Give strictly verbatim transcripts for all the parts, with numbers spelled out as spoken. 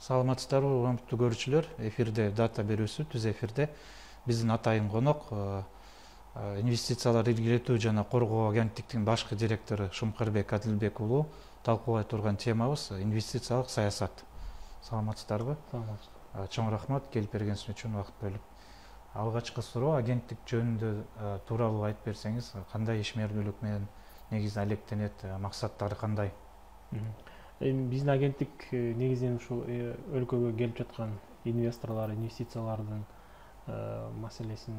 Саламатсыздарбы, урматтуу көрүүчүлөр. Эфирде дата берүүсү түз эфирде биздин атайын конок инвестициялар илгертүү жана коргоо агенттиктин башкы директору Шумкарбек Адилбек уулу талкуулай турган темабыз инвестициялык саясат. Саламатсыздарбы? Саламатсыздар. Чоң рахмат келип бергениңиз үчүн, убакыт бөлүп. Алгачкы суроо агенттик жөнүндө тууралуу айтып берсеңиз, кандай ишмердүүлүк менен негизи алектенет, максаттары кандай? Биздин агенттик негизинен ушул өлкөгө келип жаткан инвесторлор, инвестициялардын маселесин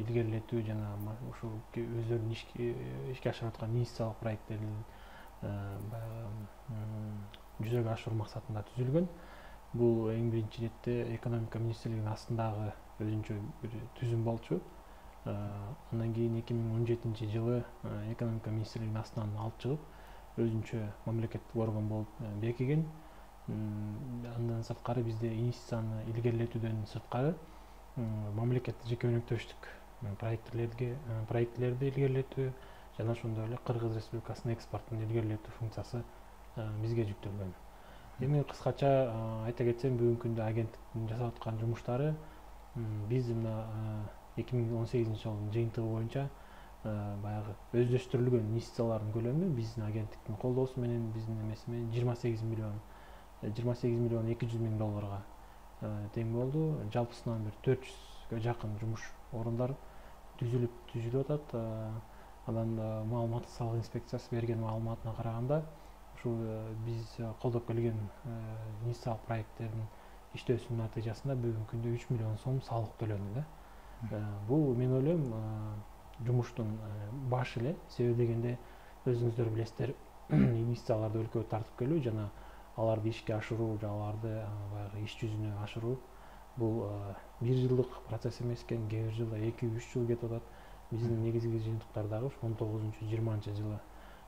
илгерилетүү жана ушул өздөрүнүн ишке ашырып аткан инвестициялык проекттерин жүзөгө ашыруу максатында түзүлгөн. Бул эң биринчи четте экономика министрлигинин астындагы өзүнчө бир түзүм болчу. Андан кийин эки миң он жетинчи жылы экономика министрлигинин астынан алып чыгып, өзүнчө мамлекеттик орган болуп бекиген. Андан сырткары бизде инвестицияны илгерилетүүдөн сырткары мамлекеттик жеке өнөктөштүк проекттерди проекттерди илгерилетүү жана ошондой эле Кыргыз Республикасынын экспортун илгерилетүү функциясы бизге жүктөлгөн. Эми кыскача айта кетсем, бүгүнкү күндө агенттиктин жасап аткан жумуштары биз мына эки миң он сегизинчи жылдын жыйынтыгы боюнча баягы өздөштүрүлгөн инвестициялардын көлөмү биздин агенттиктин колдоосу менен, биздин эмеси менен жыйырма сегиз миллион жыйырма сегиз миллион эки жүз миң долларга тең болду. Жалпысынан бир төрт жүзгө жакын жумуш орундар түзүлүп түзүлүп атат. Анан маалыматтык салык инспекциясы берген маалыматына караганда, ушул биз колдоп келген инвестициялык проекттердин иштөөсүнүн натыйжасында бүгүнкү күндө үч миллион сом салык төлөндү да. Бул мен ойлойм жумуштун башы эле. Себеби дегенде өзүңүздөр билесиздер, инвестицияларды өлкөгө тартып келүү жана аларды ишке ашыруу, жана аларды баягы иш жүзүнө ашыруу бул бир жылдык процесс эмес экен, кээ бир жылда эки үч жыл кетип атат. Биздин негизги жыйынтыктар дагы он тогузунчу жыйырманчы жылы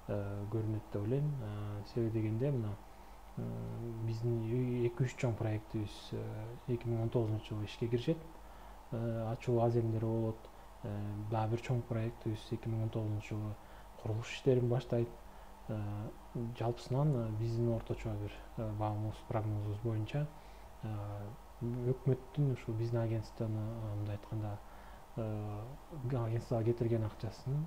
көрүнөт деп ойлойм. Себеби дегенде мына биздин эки үч чоң проектибиз эки миң он тогузунчу жылы ишке киришет. Ачуу аземдери болот. Дагы бир чоң проектибиз эки миң он тогузунчу жылы курулуш иштерин баштайт. Жалпысынан биздин орточо бир багымыбыз, прогнозубуз боюнча өкмөттүн ушул биздин агентствону мындай айтканда агентствого кетирген акчасынын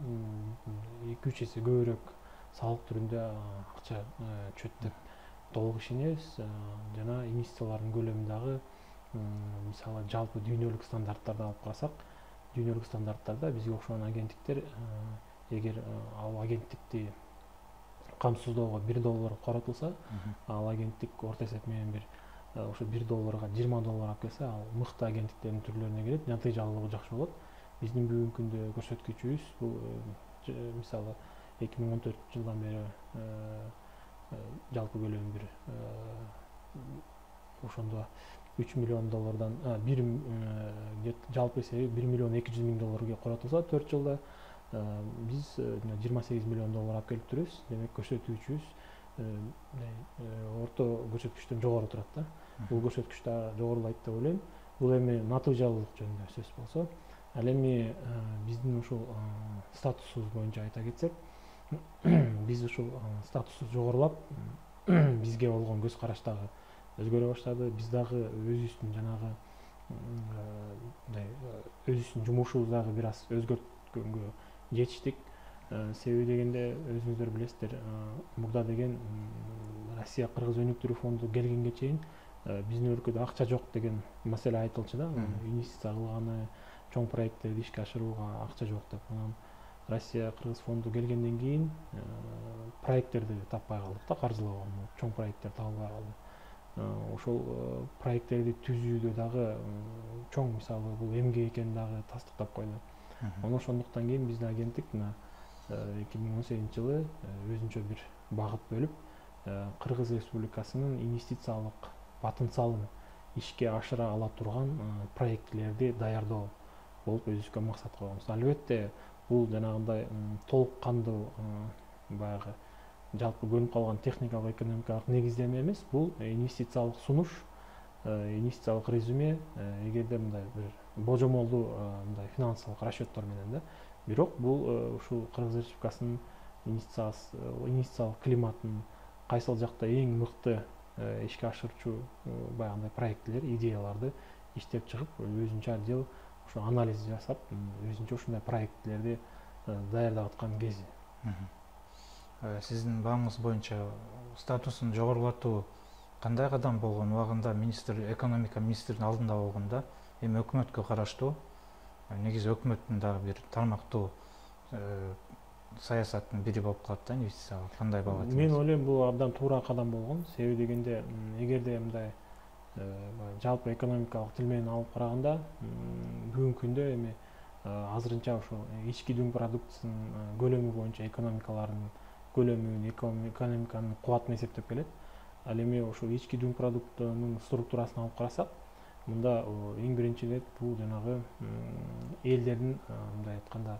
эки үч эсе көбүрөөк салык түрүндө акча чөт деп толук ишенебиз. Жана инвестициялардын көлөмү дагы мисалы жалпы дүйнөлүк стандарттарды алып карасак, дүйнөлүк стандарттарда бизге окшогон агенттиктер эгер ал агенттикти камсыздоого бир доллар коротулса, ал агенттик орто эсеп менен бир ошо бир долларга жыйырма доллар алып келсе, ал мыкты агенттиктердин түрлөрүнө кирет, натыйжалуулугу жакшы болот. Биздин бүгүнкү күндө көрсөткүчүбүз бул мисалы эки миң он төртүнчү жылдан бери жалпы көлөмү бир ошондо үч миллион доллардан бир жалпы эсеби бир миллион эки жүз миң долларга коротулса төрт жылда, биз жыйырма сегиз миллион доллар алып келип турбуз. Демек көрсөткүчүбүз орто көрсөткүчтөн жогору турат да. Бул көрсөткүч да жогорулайт деп ойлойм. Бул эми натыйжалуулук жөнүндө сөз болсо. Ал эми биздин ушул статусубуз боюнча айта кетсек, биз ушул статусубуз жогорулап, бизге болгон көз караш дагы өзгөрө баштады. Биз дагы өзүбүздүн жанагы өзүбүздүн жумушубуз дагы бир аз өзгөрткөнгө жетиштик. Себеби дегенде өзүңүздөр билесиздер, мурда деген Россия Кыргыз өнүктүрүү фонду келгенге чейин биздин өлкөдө акча жок деген маселе айтылчу да. Инвестиция кылганы, чоң проекттерди ишке ашырууга акча жок деп. Анан Россия Кыргыз фонду келгенден кийин проекттерди таппай калдык да, каржылоого, чоң проекттер табылбай калды. Ошол проекттерди түзүүдө дагы чоң мисалы бул эмгек экенин дагы тастыктап койду. Анан ошондуктан кийин биздин агенттик мына эки миң он сегизинчи жылы өзүнчө бир багыт бөлүп, Кыргыз Республикасынын инвестициялык потенциалын ишке ашыра ала турган проекттерди даярдоо болуп өзүбүзгө максат койгонбуз. Албетте, бул жанагындай толук кандуу баягы жалпы көнүп калган техникалык экономикалык негиздеме эмес, бул инвестициялык сунуш, инвестициялык резюме, эгерде мындай бир божомолдуу мындай финансылык расчеттор менен да. Бирок бул ушул Кыргыз Республикасынын инвестициялык климатын кайсыл жакта эң мыкты ишке ашырчу баягындай проектилер, идеяларды иштеп чыгып, өзүнчө жыл ошо анализ жасап, өзүнчө ушундай проектилерди даярдап аткан кези. Сиздин бааңыз боюнча статусун жогорулатуу кандай кадам болгон? Убагында министр, экономика министринин алдында болгондо, эми өкмөткө караштуу, негизи өкмөттүн дагы бир тармактуу саясаттын бири болуп калат да, инвестицияга. Кандай багат? Мен ойлойм, бул абдан туура кадам болгон. Себеби дегенде, эгерде мындай жалпы экономикалык тил менен алып караганда, бүгүнкү күндө эми азырынча ошо ички дүң продуктусунун көлөмү боюнча экономикалардын көлөмүн, экономиканын кубатын эсептеп келет. Ал эми ошо ички дүң продуктунун структурасын алып карасак, мында эң биринчи ирет бул жанагы элдердин мындай айтканда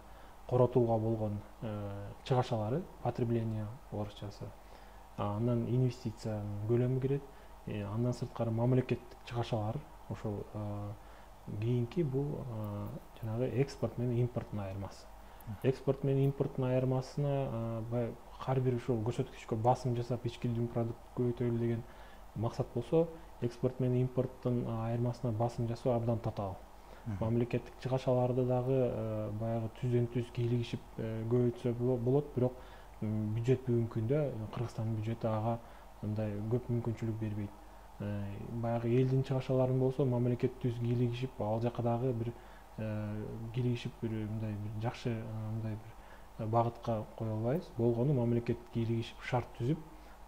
коротууга болгон чыгашалары, потребление орусчасы, андан инвестициянын көлөмү кирет, андан сырткары мамлекеттик чыгашалар, ошол кийинки бул жанагы экспорт менен импорттун айырмасы. Экспорт менен импорттун айырмасына ар бир ушул көрсөткүчкө басым жасап, ички дүң продукт көбөйтөлү деген максат болсо, экспорт менен импорттун айырмасына басым жасоо абдан татаал. Мамлекеттик чыгашаларды дагы баягы түздөн түз кийлигишип көбөйтсө болот, бирок бюджет бүгүнкү күндө Кыргызстандын бюджети ага мындай көп мүмкүнчүлүк бербейт. Баягы элдин чыгашаларын болсо мамлекет түз кийлигишип, ал жака дагы бир кийлигишип бир мындай бир жакшы мындай бир багытка кое албайбыз. Болгону мамлекет кийлигишип шарт түзүп,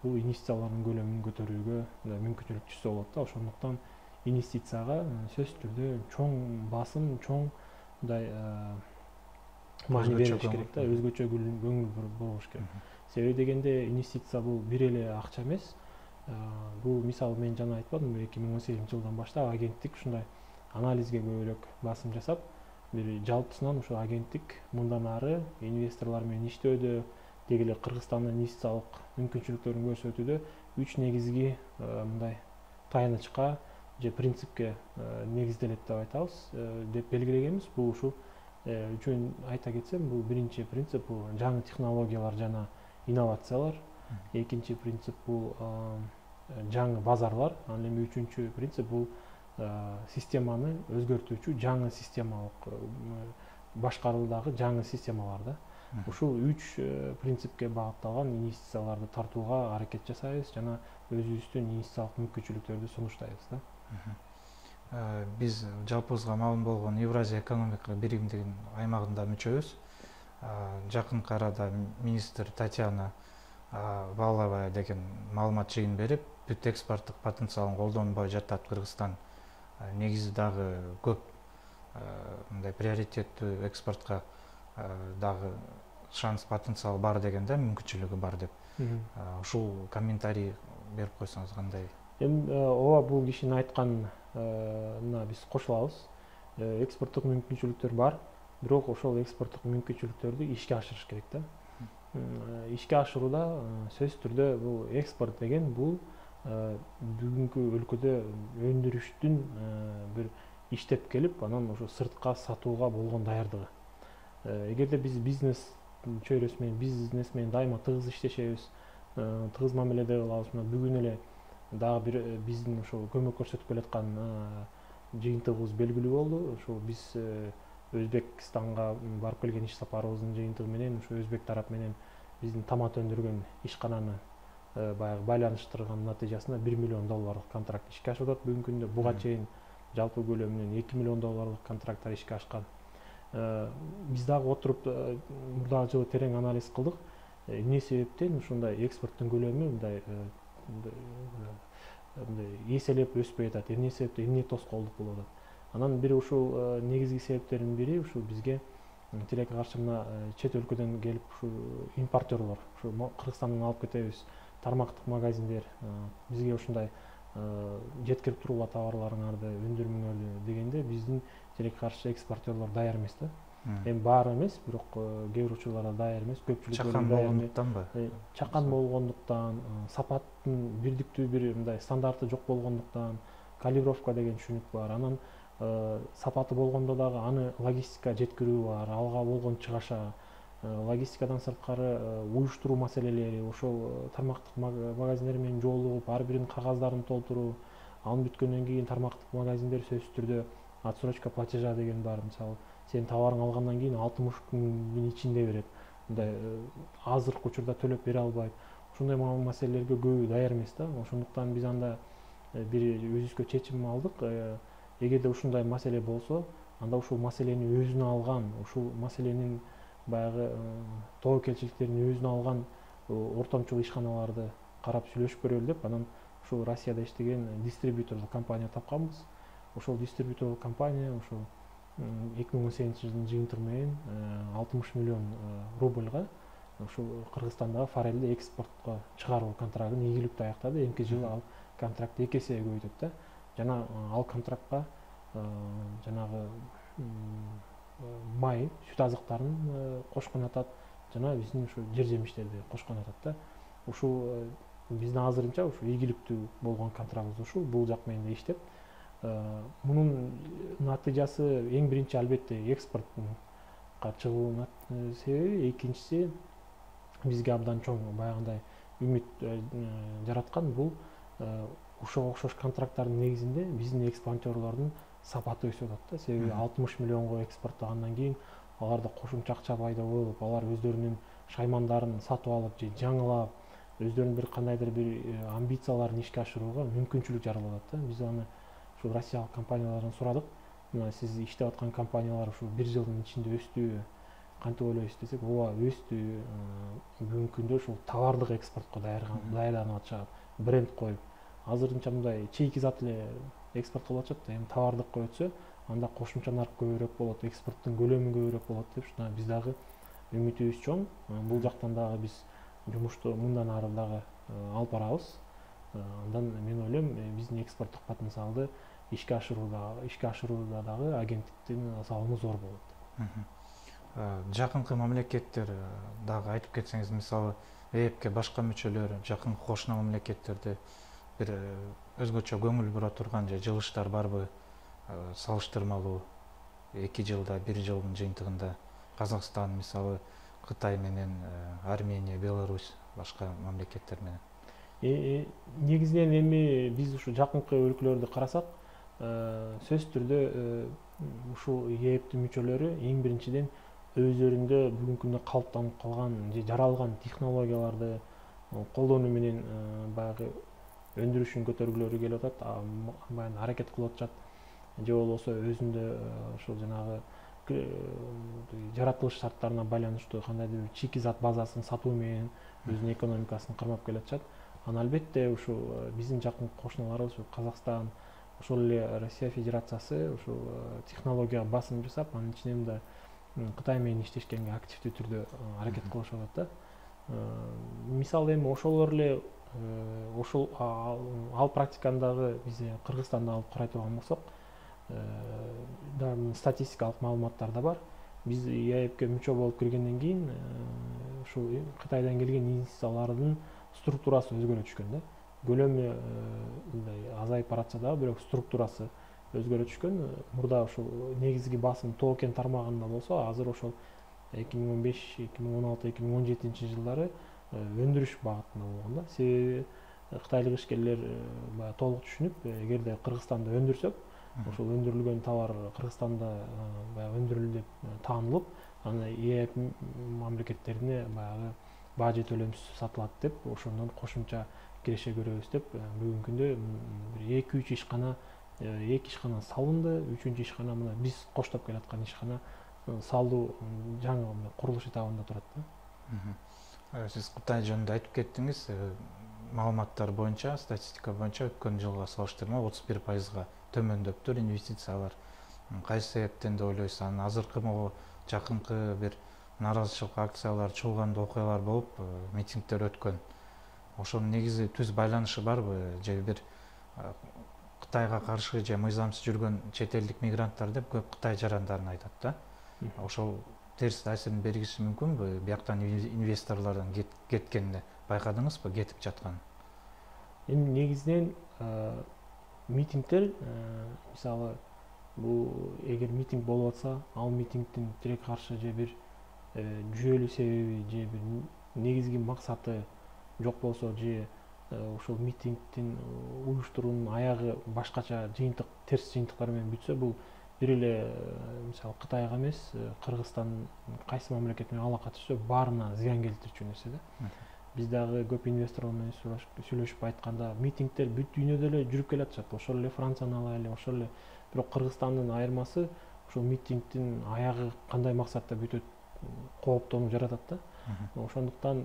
бул инвестициялардын көлөмүн көтөрүүгө мүмкүнчүлүк түзсө болот да. Ошондуктан инвестицияга сөзсүз түрдө чоң басым, чоң мындай маани берилиш керек да, өзгөчө көңүл бурулуш керек. Себеби дегенде инвестиция бул бир эле акча эмес. Бул мисалы мен жана айтпадымбы, эки миң он сегизинчи жылдан баштап агенттик ушундай анализге көбүрөөк басым жасап, бир жалпысынан ушул агенттик мындан ары инвесторлор менен иштөөдө, деги эле Кыргызстандын инвестициялык мүмкүнчүлүктөрүн көрсөтүүдө үч негизги мындай таянычка же принципке негизделет деп айтабыз, деп белгилегенбиз. Бул ушул үчөүн айта кетсем, бул биринчи принцип бул жаңы технологиялар жана инновациялар, экинчи принцип бул жаңы базарлар, анан эми үчүнчү принцип бул системаны өзгөртүүчү жаңы системалык башкаруудагы жаңы системалар да. Ушул үч принципке багытталган инвестицияларды тартууга аракет жасайбыз жана өзүбүздүн инвестициялык мүмкүнчүлүктөрдү сунуштайбыз да. Биз жалпыбызга маалым болгон Евразия экономика биримдигинин аймагында мүчөбүз. Жакынкы арада министр Татьяна Валовая деген маалымат жыйын берип, бүт экспорттук потенциалын колдонбой жатат Кыргызстан. Негизи дагы көп мындай приоритеттүү экспортко дагы шанс, потенциал бар дегенде, мүмкүнчүлүгү бар деп. Ушул комментарий берип койсоңуз кандай? Эми ооба, бул кишинин айтканына биз кошулабыз. Экспорттук мүмкүнчүлүктөр бар, бирок ошол экспорттук мүмкүнчүлүктөрдү ишке ашырыш керек да. Ишке ашырууда сөзсүз түрдө бул экспорт деген бул бүгүнкү өлкөдө өндүрүштүн бир иштеп келип, анан ошо сыртка сатууга болгон даярдыгы. Эгерде биз бизнес чөйрөсү менен, бизнес менен дайыма тыгыз иштешебиз, тыгыз мамиледе кылабыз, бүгүн эле дагы бир биздин ошо көмөк көрсөтүп келаткан жыйынтыгыбыз белгилүү болду. Ошо биз Өзбекстанга барып келген иш сапарыбыздын жыйынтыгы менен, ошо өзбек тарап менен биздин томат өндүргөн ишкананы баягы байланыштырган натыйжасында бир миллион долларлык контракт ишке ашып атат бүгүнкү күндө. Буга чейин жалпы көлөмүнөн эки миллион долларлык контракттар ишке ашкан. Биз дагы отуруп мурдагы жылы терең анализ кылдык. Эмне себептен ушундай экспорттун көлөмү мындай эселеп өспөй атат, эмне себептен, эмне тоскоолдук болуп атат? Анан бир ушул негизги себептердин бири ушул бизге тилекке каршы мына чет өлкөдөн келип ушу импортерлор, ушу Кыргызстандан алып кетебиз, тармактык магазиндер бизге ушундай жеткирип турула товарларыңарды, өндүрмөңөрдү дегенде биздин тилекке каршы экспортерлор даяр эмес да. Эми баары эмес, бирок кээ бир учурларда даяр эмес, көпчүлүк чакан болгондуктанбы? Чакан болгондуктан, сапаттын бирдиктүү бир мындай стандарты жок болгондуктан, калибровка деген түшүнүк бар. Анан сапаты болгондо дагы аны логистика жеткирүү бар, алга болгон чыгаша логистикадан сырткары уюштуруу маселелери, ошол тармактык магазиндер менен жолугуп ар биринин кагаздарын толтуруу, анын бүткөндөн кийин тармактык магазиндер сөзсүз түрдө отсрочка платежа деген бар. Мисалы сен товарың алгандан кийин алтымыш күндүн ичинде берет, мындай азыркы учурда төлөп бере албайт. Ушундай маселелерге көбү даяр эмес да. Ошондуктан биз анда бир өзүбүзгө чечим алдык. Эгерде ушундай маселе болсо, анда ушул маселени өзүнө алган, ушул маселенин баягы тобокелчиликтерин өзүнө алган ортомчул ишканаларды карап сүйлөшүп көрөлү деп, анан ушул Россияда иштеген дистрибьютордук компания тапканбыз. Ошол дистрибьютордук компания ушул эки миң он сегизинчи жылдын жыйынтыгы менен алтымыш миллион рубльга ушул Кыргызстандагы форельди экспортко чыгаруу контрактын ийгиликтүү аяктады. Эмки жылы ал контрактты эки эсеге көбөйтөт да. Жана ал контрактка жанагы май, сүт азыктарын кошкон атат, жана биздин ушу жер жемиштерди кошкон атат да. Ушул биздин азырынча ушу ийгиликтүү болгон контрактыбыз ушул, бул жак менен да иштеп. Мунун натыйжасы эң биринчи албетте экспортко чыгуунун себеби, экинчиси бизге абдан чоң баягындай үмүт жараткан бул ошого окшош контракттардын негизинде биздин экспортерлордун сапаты өсүп атат да. Себеби алтымыш миллионго экспорттогандан кийин аларда кошумча акча пайда болуп, алар өздөрүнүн шаймандарын сатып алып же жаңылап, өздөрүнүн бир кандайдыр бир амбицияларын ишке ашырууга мүмкүнчүлүк жаралып атат да. Биз аны ушул россиялык компаниялардан сурадык. Мына сиз иштеп аткан компаниялар ушул бир жылдын ичинде өстүбү, кантип ойлойсуз десек, ооба өстү. Бүгүнкү күндө ушул товардык экспортко даярданып атышат, бренд коюп. Азырынча мындай чейки зат эле экспорт кылып атышат да. Эми товардыкка өтсө, анда кошумча нарк көбүрөөк болот, экспорттун көлөмү көбүрөөк болот деп, ушуна биз дагы үмүтүбүз чоң. Бул жактан дагы биз жумушту мындан ары дагы алып барабыз. Андан мен ойлойм, биздин экспорттук потенциалды ишке ашырууда, ишке ашырууда дагы агенттиктин салымы зор болот. Жакынкы мамлекеттер дагы айтып кетсеңиз, мисалы ЭЭПке башка мүчөлөр, жакынкы кошуна мамлекеттерде бир өзгөчө көңүл бура турган же жылыштар барбы? Салыштырмалуу эки жылда, бир жылдын жыйынтыгында Казакстан мисалы, Кытай менен Армения, Беларусь, башка мамлекеттер менен. Негизинен эми биз ушу жакынкы өлкөлөрдү карасак, сөзсүз түрдө ушул ЭЭПтин мүчөлөрү эң биринчиден өздөрүндө бүгүнкү күндө калыптанып калган же жаралган технологияларды колдонуу менен баягы өндүрүшүн көтөргүлөрү келип атат, баягы аракет кылып атышат. Же болбосо өзүндө ошол жанагы жаратылыш шарттарына байланыштуу кандайдыр бир чийки зат базасын сатуу менен өзүнүн экономикасын кармап келатышат. Аны албетте ушул биздин жакынкы кошуналарыбыз, ушул Казакстан, ошол эле Россия Федерациясы ушул технологияга басым жасап, анын ичинен да Кытай менен иштешкенге активдүү түрдө аракет кылышып атат да. Мисалы эми ошолор эле ошол ал практиканы дагы биз Кыргызстанда алып карай турган болсок, статистикалык маалыматтар да бар. Биз ЭЭПке мүчө болуп киргенден кийин ушул Кытайдан келген инвестициялардын структурасы өзгөрө түшкөн да. Көлөмү мындай азайып баратса дагы, бирок структурасы өзгөрө түшкөн. Мурда ушул негизги басым тоо кен тармагында болсо, азыр ошол эки миң он беш, эки миң он алты, эки миң он жетинчи жылдары өндүрүш багытында болгон да. Себеби кытайлык ишкерлер баягы толук түшүнүп, эгерде Кыргызстанда өндүрсөк, ошол өндүрүлгөн товар Кыргызстанда баягы өндүрүлдү деп таанылып, аны ЭЭП мамлекеттерине баягы бажы төлөмсүз сатылат деп, ошондон кошумча киреше көрөбүз деп, бүгүнкү күндө бир эки үч ишкана эки ишкана салынды, үчүнчү ишкана мына биз коштоп келаткан ишкана салуу жаңы курулуш этабында турат да. Сиз Кытай жөнүндө айтып кеттиңиз. Маалыматтар боюнча, статистика боюнча өткөн жылга салыштырмалуу отуз бир пайызга төмөндөптүр инвестициялар. Кайсы себептен деп ойлойсуз? Анын азыркы могу жакынкы бир нааразычылык акциялар, чуулгандуу окуялар болуп, митингдер өткөн. Ошонун негизи түз байланышы барбы? Же бир Кытайга каршы же мыйзамсыз жүргөн чет элдик мигранттар деп көп Кытай жарандарын айтат да. Ошол терс таасирин бергиси мүмкүнбү? Бияктан инвесторлордун кеткенин байкадыңызбы, кетип жатканын? Эми негизинен митингдер, мисалы бул эгер митинг болуп атса, ал митингдин тирек каршы же бир жүйөлүү себеби же бир негизги максаты жок болсо, же ошол митингдин уюштуруунун аягы башкача жыйынтык, терс жыйынтыктар менен бүтсө, бул бир эле мисалы Кытайга эмес, Кыргызстан кайсы мамлекет менен алака түзсө, баарына зыян келтирчү нерсе да. Биз дагы көп инвесторлор менен сүйлөшүп айтканда, митингдер бүт дүйнөдө эле жүрүп келатышат. Ошол эле Францияны алайлы, ошол эле. Бирок Кыргызстандын айырмасы ошол митингдин аягы кандай максатта бүтөт, кооптонуу жаратат да. Ошондуктан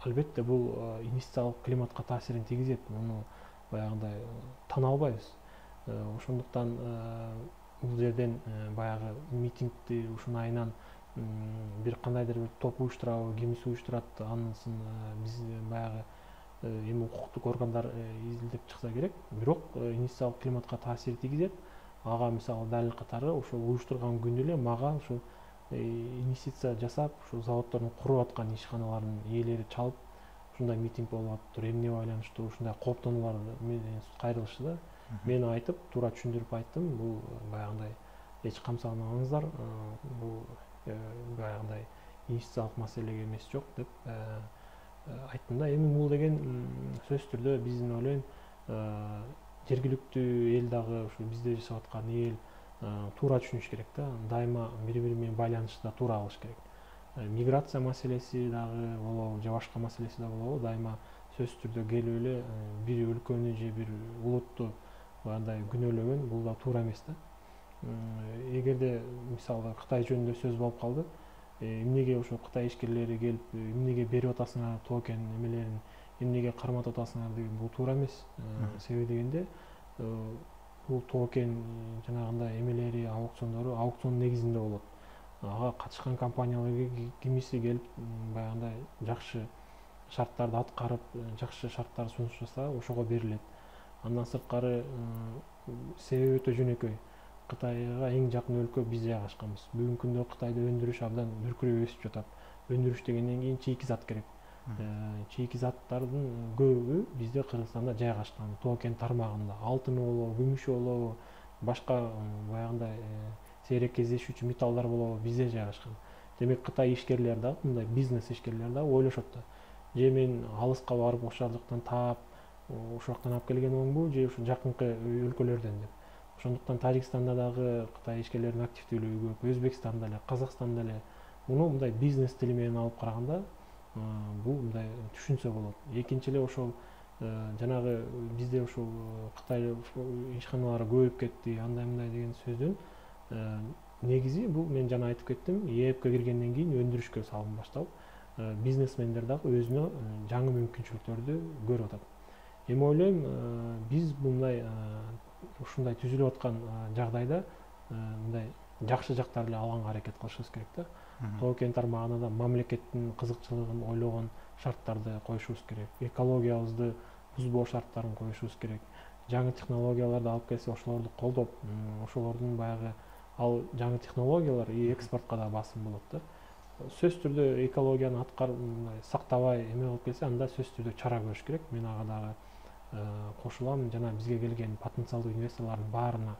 албетте бул инвестициялык климатка таасирин тийгизет. Муну баягындай тана албайбыз. Ошондуктан бул жерден баягы митингди ушун айынан бир кандайдыр бир топ уюштурабы, кимиси уюштурат, анысын биз баягы эми укуктук органдар изилдеп чыкса керек. Бирок инвестициялык климатка таасир тийгизет. Ага мисалы далил катары ошол уюштурган күнү эле мага ошол инвестиция жасап, ушул заводдордун куруп аткан ишканаларынын ээлери чалып, ушундай митинг болуп атыптыр, эмне байланыштуу, ушундай кооптонуулар менен кайрылышты да. Мен айтып, туура түшүндүрүп айттым, бул баягындай эч камсалмаңыздар, бул баягындай инвестициялык маселеге эмес жок деп айттым да. Эми бул деген сөзсүз түрдө биздин ойлойм, жергиликтүү эл дагы ушу бизде жашап аткан эл туура түшүнүш керек да. Дайыма бири бири менен байланышты туура кылыш керек. Миграция маселеси дагы болобу, же башка маселеси да болобу, дайыма сөзсүз түрдө келип эле бир өлкөнү же бир улутту андай күнөөлөгөн, бул да туура эмес да. Эгерде мисалы Кытай жөнүндө сөз болуп калды, эмнеге ошо Кытай ишкерлери келип, эмнеге берип атасыңар токен эмелерин, эмнеге карматып атасыңар деген, бул туура эмес. Себеби дегенде бул токен жанагындай эмелери, аукциондору аукцион негизинде болот. Ага катышкан компанияларга кимиси келип баягындай жакшы шарттарды аткарып, жакшы шарттар сунуш жасаса, ошого берилет. Андан сырткары себеби өтө жөнөкөй. Кытайга эң жакын өлкө биз жайгашканбыз. Бүгүнкү күндө Кытайда өндүрүш абдан дүркүрөп өсүп жатат. Өндүрүш дегенден кийин чийки зат керек. Чийки заттардын көбү бизде Кыргызстанда жайгашкан. Токен тармагында алтыны болобу, күмүшү болобу, башка баягындай сейрек кездешүүчү металлдар болобу бизде жайгашкан. Демек Кытай ишкерлери да, мындай бизнес ишкерлери да ойлошот да. Же мен алыска барып ошол жактан таап, ошол жактан алып келген оңбу, же ушу жакынкы өлкөлөрдөн деп. Ошондуктан Тажикстанда дагы Кытай ишкерлеринин активдүүлүгү көп, Өзбекстанда эле, Казакстанда эле. Муну мындай бизнес тили менен алып караганда, бул мындай түшүнсө болот. Экинчи эле ошол жанагы бизде ошол Кытай ишканалары көбөйүп кетти, андай мындай деген сөздөн негизи бул мен жана айтып кеттим, ЕЭПке киргенден кийин өндүрүшкө салым башталып, бизнесмендер дагы өзүнө жаңы мүмкүнчүлүктөрдү көрүп атат. Эми ойлойм, биз мындай ушундай түзүлүп аткан жагдайда мындай жакшы жактарды эле алганга аракет кылышыбыз керек да. Токен тармагына да мамлекеттин кызыкчылыгын ойлогон шарттарды коюшубуз керек. Экологиябызды бузбоо шарттарын коюшубуз керек. Жаңы технологияларды алып келсе, ошолорду колдоп, ошолордун баягы ал жаңы технологиялар экспортко да басым болот да. Сөзсүз түрдө экологияны аткарып, сактабай эме кылып келсе, анда сөзсүз түрдө чара көрүш керек. Мен ага дагы кошулам. Жана бизге келген потенциалдуу инвесторлордун баарына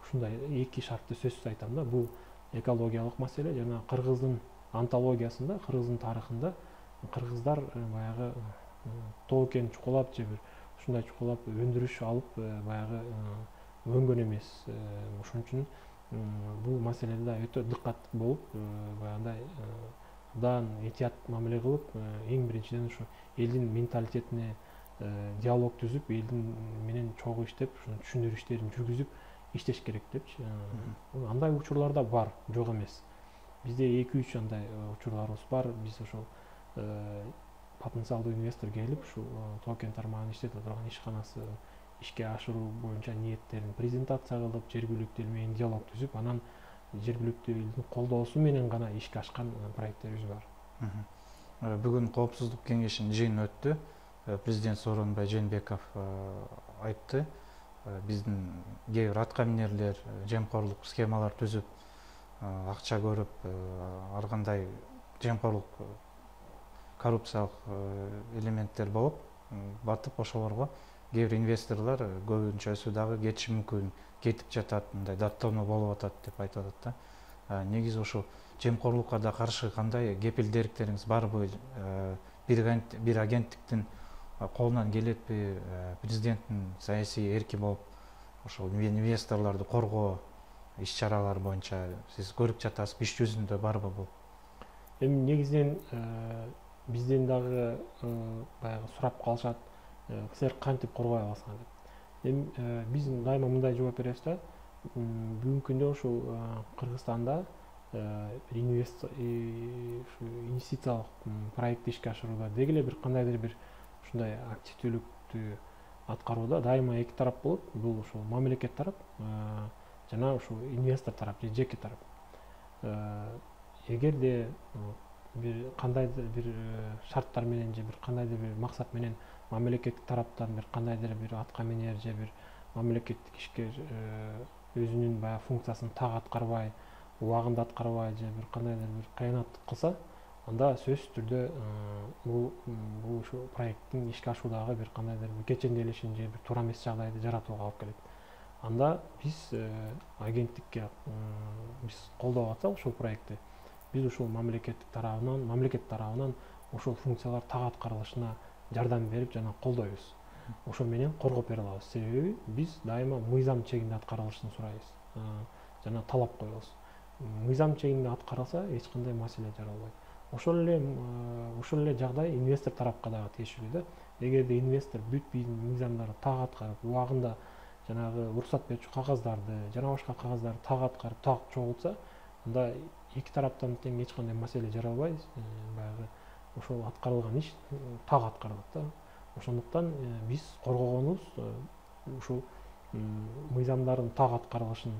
ушундай эки шартты сөзсүз айтам да. Бул экологиялык маселе, жана кыргыздын антологиясында, кыргыздын тарыхында кыргыздар баягы токен чукулап же бир ушундай чукулап өндүрүш алып баягы өнгөн эмес. Ошон үчүн бул маселеде да өтө дыккаттуу болуп, баягындай абдан этият мамиле кылып, эң биринчиден ушу элдин менталитетине диалог түзүп, элдин менен чогуу иштеп, ушуну түшүндүрүү иштерин жүргүзүп иштеш керек депчи. Андай учурлар да бар, жок эмес. Бизде эки үч андай учурларыбыз бар. Биз ошол потенциалдуу инвестор келип, ушу токен тармагын иштете турган ишканасы ишке ашыруу боюнча ниеттерин презентация кылып, жергиликтүү эл менен диалог түзүп, анан жергиликтүү элдин колдоосу менен гана ишке ашкан проекттерибиз бар. Бүгүн Коопсуздук кеңешинин жыйыны өттү. Президент Сооронбай Жээнбеков айтты, биздин кээ бир аткаминерлер жемкорлук схемалар түзүп, акча көрүп, ар кандай жемкорлук, коррупциялык элементтер болуп батып, ошолорго кээ бир инвесторлор көбүнчөсү дагы кетиши мүмкүн, кетип жатат, мындай даттануу болуп атат деп айтып атат да. негизи ошо жемкорлукка да каршы кандай кепилдериктериңиз барбы? Бир агенттиктин колунан келетпи? Президенттин саясий эрки болуп ошол инвесторлорду коргоо иш чаралары боюнча сиз көрүп жатасызбы, иш жүзүндө барбы бул? Эми негизинен бизден дагы баягы сурап калышат, силер кантип коргой аласыңар деп. Эми биз дайыма мындай жооп беребиз да, бүгүнкү күндө ушул Кыргызстанда инвестициялык проектти ишке ашырууда деги эле бир кандайдыр бир ушундай активдүүлүктү аткарууда дайыма эки тарап болот. Бул ушул мамлекет тарап жана ушул инвестор тарап же жеке тарап. Эгерде бир кандайдыр бир шарттар менен же бир кандайдыр бир максат менен мамлекеттик тараптан бир кандайдыр бир атка минер же бир мамлекеттик ишкер өзүнүн баягы функциясын так аткарбай, убагында аткарбай же бир кандайдыр бир кыянаттык кылса, анда сөзсүз түрдө бул бул ушу проекттин ишке ашуудагы бир кандайдыр бир кеченделишин же бир туура эмес жагдайды жаратууга алып келет. Анда биз агенттикке биз колдоп атсак ушул проектти, биз ушул мамлекеттик тарабынан, мамлекет тарабынан ошол функциялар так аткарылышына жардам берип жана колдойбуз. Ошо менен коргоп бере алабыз. Себеби биз дайыма мыйзам чегинде аткарылышын сурайбыз жана талап коебуз. Мыйзам чегинде аткарылса эч кандай маселе жаралбайт. Ошол эле ошол эле жагдай инвестор тарапка дагы тиешелүү да. Эгерде инвестор бүт мыйзамдарды так аткарып, убагында жанагы уруксат берүүчү кагаздарды жана башка кагаздарды так аткарып, так чогултса, анда эки тараптан тең эч кандай маселе жаралбай, баягы ошол аткарылган иш так аткарылат да. Ошондуктан биз коргогонубуз ушул мыйзамдардын так аткарылышын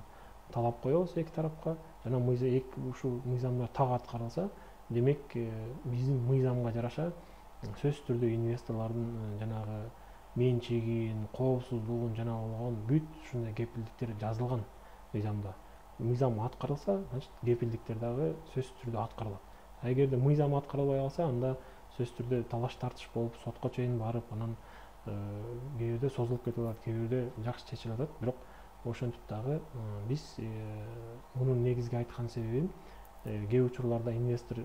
талап коебуз эки тарапка. Жана ушул мыйзамдар так аткарылса, демек биздин мыйзамга жараша сөзсүз түрдө инвесторлордун жанагы менчигин, коопсуздугун жана болгон бүт ушундай кепилдиктер жазылган мыйзамда. Мыйзам аткарылса, значит кепилдиктер дагы сөзсүз түрдө аткарылат. А эгерде мыйзам аткарылбай калса, анда сөзсүз түрдө талаш тартыш болуп, сотко чейин барып, анан кээ бирде созулуп кетип атат, кээ бирде жакшы чечилип атат. Бирок ошентип дагы биз мунун негизги айткан себебим, кээ учурларда инвестор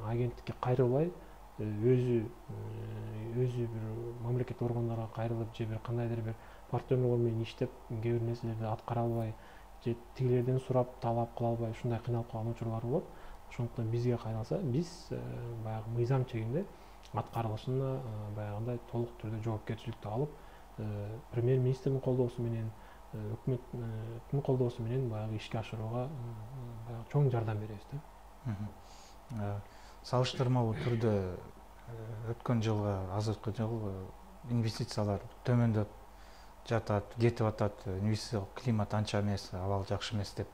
агенттикке кайрылбай, өзү өзү бир мамлекеттик органдарга кайрылып же бир кандайдыр бир партнерлор менен иштеп, кээ бир нерселерди аткара албай, же тигилерден сурап талап кыла албай ушундай кыйналып калган учурлар болот. Ошондуктан бизге кайрылса, биз баягы мыйзам чегинде аткарылышына баягындай толук түрдө жоопкерчиликти алып, премьер-министрдин колдоосу менен, өкмөттүн колдоосу менен баягы ишке ашырууга баягы чоң жардам беребиз да. Салыштырмалуу түрдө өткөн жылга азыркы жыл инвестициялар төмөндөп жатат, кетип атат, инвестициялык климат анча эмес, абал жакшы эмес деп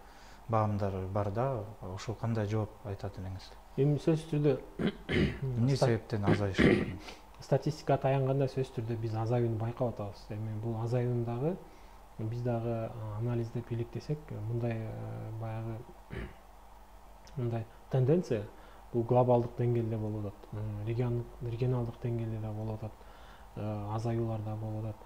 баамдар бар да. Ошол кандай жооп айтат элеңиз? Эми сөзсүз түрдө эмне себептен азайышы? Статистикага таянганда сөзсүз түрдө биз азаюуну байкап атабыз. Эми бул азаюунун дагы биз дагы анализдеп иликтесек, мындай баягы мындай тенденция бул глобалдык деңгээлде болуп атат, регионалдык деңгээлде да болуп атат, азаюулар да болуп атат.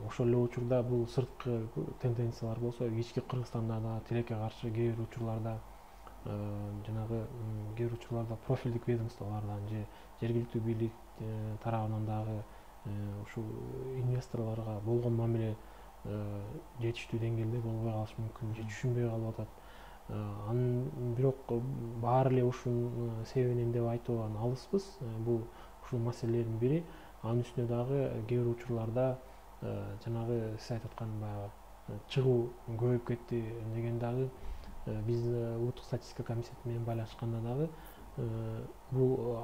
Ошол эле учурда бул сырткы тенденциялар болсо, ички Кыргызстанда да тилекке каршы кээ бир учурларда жанагы кээ бир учурларда профилдик ведомстволордон же жергиликтүү бийлик тарабынан дагы ушул инвесторлорго болгон мамиле жетиштүү деңгээлде болбой калышы мүмкүн, же түшүнбөй калып атат. Анын бирок баары эле ушунун себебинен деп айтууга алыспыз. Бул ушул маселелердин бири. Анын үстүнө дагы кээ бир учурларда жанагы сиз айтып аткан баягы чыгуу көбөйүп кетти деген дагы биз улуттук статистика комитети менен байланышканда дагы бул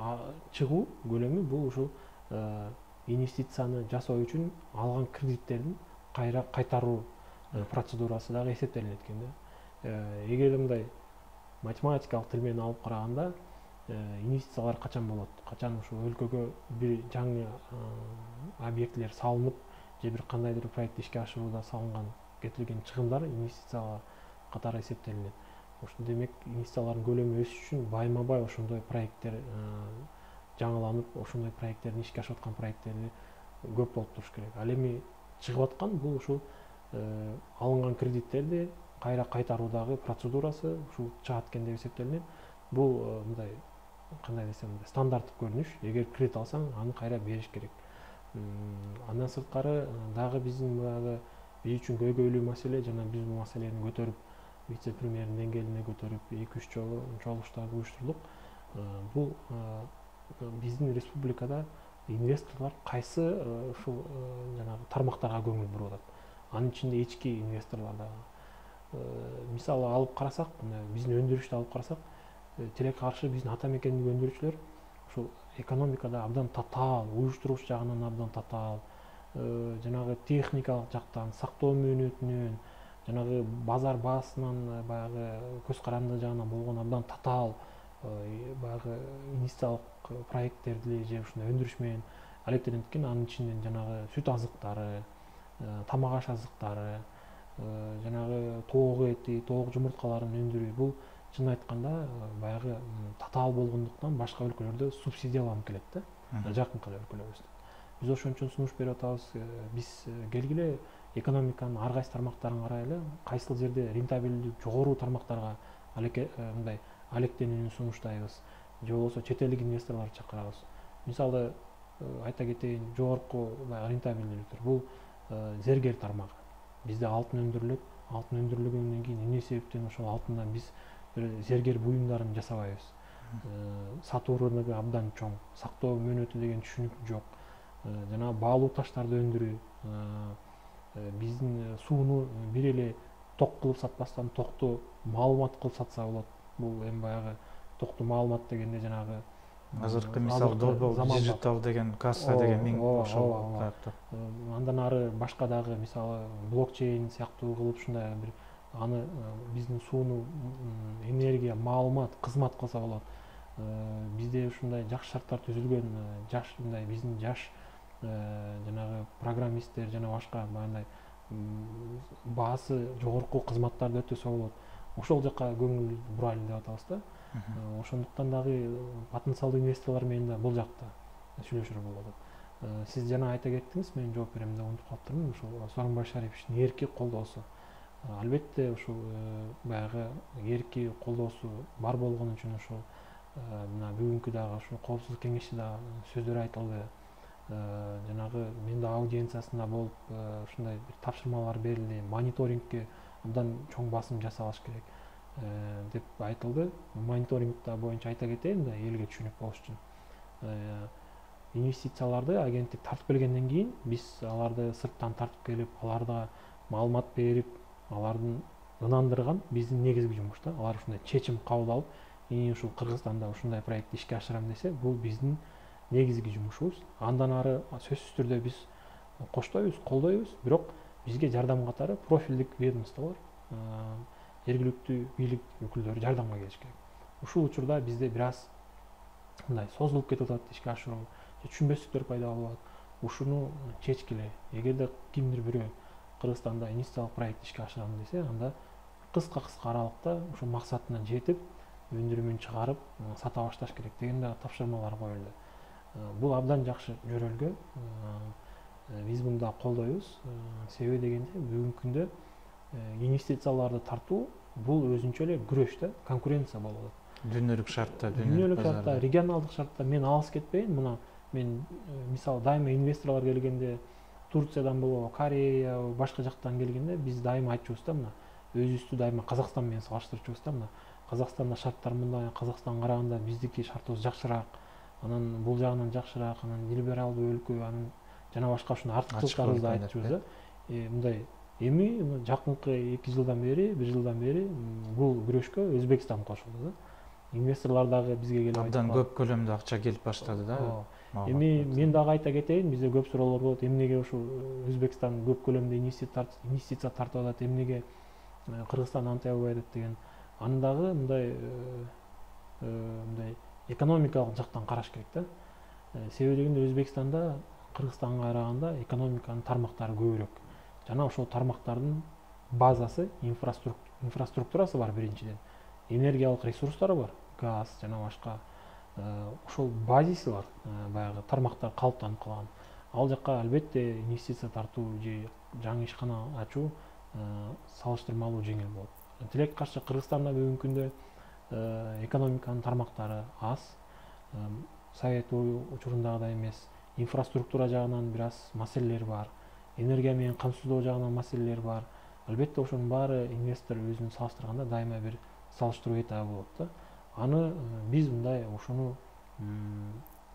чыгуу көлөмү бул ушул инвестицияны жасоо үчүн алган кредиттердин кайра кайтаруу процедурасы дагы эсептелинет экен да. Эгерде мындай математикалык тил менен алып караганда, инвестициялар качан болот? Качан ушул өлкөгө бир жаңы объектилер салынып, же бир кандайдыр проект ишке ашырууда салынган кетирилген чыгымдар инвестицияга катары эсептелинет. Ошо демек инвестициялардын көлөмү өсүш үчүн байма-бай ошондой проекттер жаңыланып, ошондой проекттердин ишке ашып аткан проекттерди көп болуп туруш керек. Ал эми чыгып аткан бул ушул алынган кредиттерди кайра кайтаруудагы процедурасы ушул чыгат экен деп эсептелинет. Бул мындай кандай десем мындай стандарттык көрүнүш. Эгер кредит алсаң, аны кайра бериш керек. Андан сырткары дагы биздин баягы биз үчүн көйгөйлүү маселе, жана биз бул маселени көтөрүп, вице-премьердин деңгээлине көтөрүп, эки үч жолу чогулуштарды уюштурдук. Бул биздин республикада инвесторлор кайсы ушул жанагы тармактарга көңүл буруп атат. Анын ичинде ички инвесторлор дагы. Мисалы алып карасак, биздин өндүрүштү алып карасак, тилекке каршы биздин ата мекендик өндүрүүчүлөр ушул экономикада абдан татаал, уюштуруш жагынан абдан татаал, жанагы техникалык жактан, сактоо мөөнөтүнөн, жанагы базар баасынан баягы көз каранды жагынан болгон абдан татаал баягы инвестициялык проекттерди же ушундай өндүрүш менен алектенет экен. Анын ичинен жанагы сүт азыктары, тамак аш азыктары, жанагы тоок эти, тоок жумурткаларын өндүрүү бул чын айтканда баягы татаал болгондуктан башка өлкөлөрдө субсидияланып келет да, жакынкы өлкөлөрүбүздө. Биз ошон үчүн сунуш берип атабыз. Биз келгиле экономиканын ар кайсы тармактарын карайлы, кайсыл жерде рентабелдүүлүк жогору тармактарга мындай алектенүүнү сунуштайбыз, же болбосо чет элдик инвесторлорду чакырабыз. Мисалы айта кетейин, жогорку баягы рентабелдүүлүктөр бул зергер тармагы. Бизде алтын өндүрүлөт. Алтын өндүрүлгөндөн кийин эмне себептен ошол алтындан биз зергер буюмдарын жасабайбыз? Сатуу рыногу абдан чоң, сактоо мөөнөтү деген түшүнүк жок. Жана баалуу таштарды өндүрүү, биздин сууну бир эле ток кылып сатпастан токту маалымат кылып сатса болот. Бул эми баягы токту маалымат дегенде жанагы азыркы мисал долбоо диджитал деген касса деген миң ошол. Андан ары башка дагы мисалы блокчейн сыяктуу кылып ушундай бир аны биздин сууну энергия, маалымат, кызмат кылса болот. Бизде ушундай жакшы шарттар түзүлгөн, жаш мындай биздин жаш жанагы программисттер жана башка мындай баасы жогорку кызматтарды өтөсө болот. Ошол жака көңүл бурайлы деп атабыз да. Ошондуктан дагы потенциалдуу инвесторлор менен да бул жакта сүйлөшүргө болот. Сиз жана айта кеттиңиз, мен жооп берем деп унутуп калыптырмын, ушул Сооронбай Шариповичтин эрки колдоосу. Албетте ушул баягы эрки колдоосу бар болгон үчүн ушул мына бүгүнкү дагы ушул коопсуздук кеңеши да сөздөр айтылды. Жанагы мен да аудиенциясында болуп ушундай бир тапшырмалар берилди, мониторингке абдан чоң басым жасалыш керек деп айтылды. Мониторинг боюнча айта кетейин да, элге түшүнүк болуш үчүн. Инвестицияларды агенттик тартып келгенден кийин биз аларды сырттан тартып келип, аларга маалымат берип, алардын ынандырган биздин негизги жумуш да. Алар ушундай чечим кабыл алып, эми ушул Кыргызстанда ушундай проектти ишке ашырам десе, бул биздин негизги жумушубуз. Андан ары сөзсүз түрдө биз коштойбуз, колдойбуз, бирок бизге жардам катары профилдик ведомстволор, жергиликтүү бийлик өкүлдөрү жардамга келиш керек. Ушул учурда бизде бир аз мындай созулуп кетип атат ишке ашыруу, түшүнбөстүктөр пайда болуп атат. Ушуну чечкиле. Эгерде кимдир бирөө Кыргызстанда инвестициялык проект ишке ашырам десе, анда кыска-кыска аралыкта ушул максатына жетип, өндүрүмүн чыгарып, сата башташ керек деген да тапшырмалар коюлду. Бул абдан жакшы жөрөлгө. Биз мында колдойбуз. Себеби дегенде бүгүнкү күндө инвестицияларды тартуу бул өзүнчө эле күрөш да, конкуренция болуп атат. Дүйнөлүк шартта, дүйнөлүк шартта, регионалдык шартта мен алыс кетпейин. Мына мен мисалы дайыма инвесторлор келгенде Турциядан болобу, Корея, башка жактан келгенде биз дайыма айтчубуз да, мына өзүбүздү дайыма Казакстан менен салыштырчубуз да, мына Казакстанда шарттар мындай, Казакстанга караганда биздики шартыбыз жакшыраак, анан бул жагынан жакшыраак, анан либералдуу өлкө, анан жана башка ушундай артыкчылыктарыбызды айтчубуз да. Мындай эми жакынкы эки жылдан бери, бир жылдан бери бул күрөшкө Өзбекстан кошулду да. Инвесторлор дагы бизге келип абдан көп көлөмдө акча келип баштады да. Эми мен дагы айта кетейин, бизде көп суроолор болот. Эмнеге ушул Өзбекстан көп көлөмдө инвестиция тартып атат, эмнеге Кыргызстан антип атат деген. Аны дагы мындай мындай экономикалык жактан караш керек да. Себеби дегенде Өзбекстанда Кыргызстанга караганда экономиканын тармактары көбүрөөк. Жана ошол тармактардын базасы, инфраструктурасы бар биринчиден. Энергиялык ресурстары бар, газ жана башка. Ошол базиси бар, баягы тармактар калыптанып калган. Ал жакка албетте инвестиция тартуу же жаңы ишкана ачуу салыштырмалуу жеңил болот. Тилекке каршы Кыргызстанда бүгүнкү күндө экономиканын тармактары аз, совет учурундагыдай эмес, инфраструктура жагынан бир аз маселелер бар, энергия менен камсыздоо жагынан маселелер бар. Албетте ошонун баары инвестор өзүн салыштырганда дайыма бир салыштыруу этабы болот да. Аны биз мындай ошону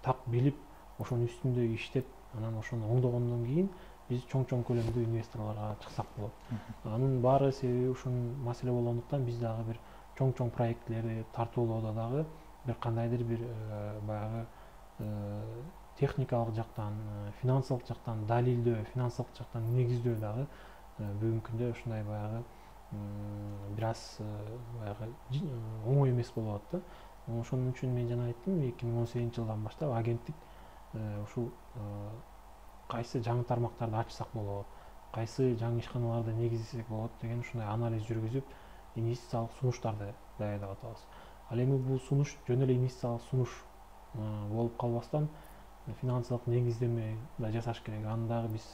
так билип, ошонун үстүндө иштеп, анан ошону оңдогондон кийин биз чоң-чоң көлөмдүү инвесторлорго чыксак болот. Анын баары себеби ушул маселе болгондуктан биз дагы бир чоң-чоң проектлерди тартуулоодо дагы бир кандайдыр бир баягы техникалык жактан, финансылык жактан далилдөө, финансылык жактан негиздөө дагы бүгүнкү күндө ушундай баягы бир аз баягы оңой эмес болуп атат да. Ошон үчүн мен жана айттым, эки миң он сегизинчи жылдан баштап агенттик ушул кайсы жаңы тармактарды ачсак болот, кайсы жаңы ишканаларды негиздесек болот деген ушундай анализ жүргүзүп, инвестициялык сунуштарды даярдап атабыз. Ал эми бул сунуш жөн эле инвестициялык сунуш болуп калбастан финансылык негиздеме да жасаш керек. Аны дагы биз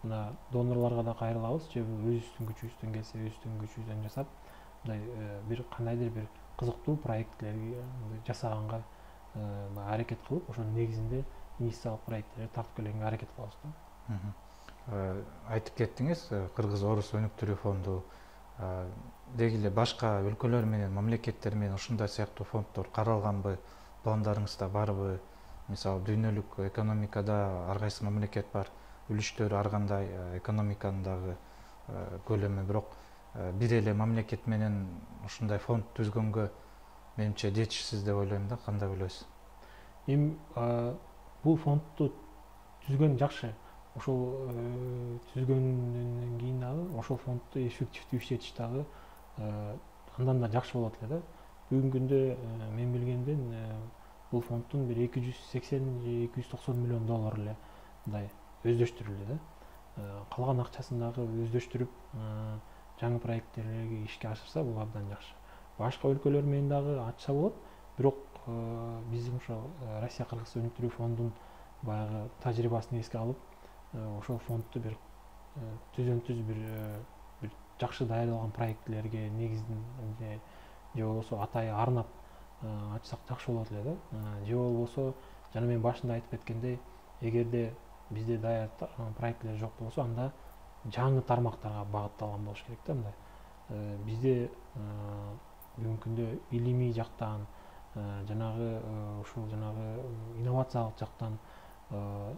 мына донорлорго да кайрылабыз, же өзүбүздүн күчүбүздөн келсе өзүбүздүн күчүбүздөн жасап, мындай бир кандайдыр бир кызыктуу проектлерди жасаганга аракет кылып, ошонун негизинде инвестициялык проекттерди тартып келгенге аракет кылабыз да. Айтып кеттиңиз, Кыргыз Орус өнүктүрүү фонду деги эле башка өлкөлөр менен, мамлекеттер менен ушундай сыяктуу фонддор каралганбы, пландарыңызда барбы? Мисалы дүйнөлүк экономикада ар кайсы мамлекет бар, үлүштөрү ар кандай экономиканын дагы көлөмү, бирок бир эле мамлекет менен ушундай фонд түзгөнгө менимче жетишсиз деп ойлойм да. Кандай ойлойсуз? Эми бул фондду түзгөн жакшы. Ошол түзгөндөн кийин дагы ошол фондду эффективдүү иштетиш дагы андан да жакшы болот эле да. Бүгүнкү күндө мен билгенден бул фонддун бир эки жүз сексен же эки жүз токсон миллион доллар эле мындай өздөштүрүлдү да. Калган акчасын дагы өздөштүрүп жаңы проекттерди ишке ашырса бул абдан жакшы. Башка өлкөлөр менен дагы ачса болот, бирок биздин ошо Россия Кыргыз өнүктүрүү фондунун баягы тажрыйбасын эске алып, ошол фондду бир түзөн түз бир бир жакшы даярдалган проектлерге негизден же болбосо атайы арнап ачсак жакшы болот эле да. Же болбосо жана мен башында айтып кеткендей, эгерде бизде даяр проектлер жок болсо, анда жаңы тармактарга багытталган болуш керек да. Мындай бизде бүгүнкү күндө илимий жактан, жанагы ушул жанагы инновациялык жактан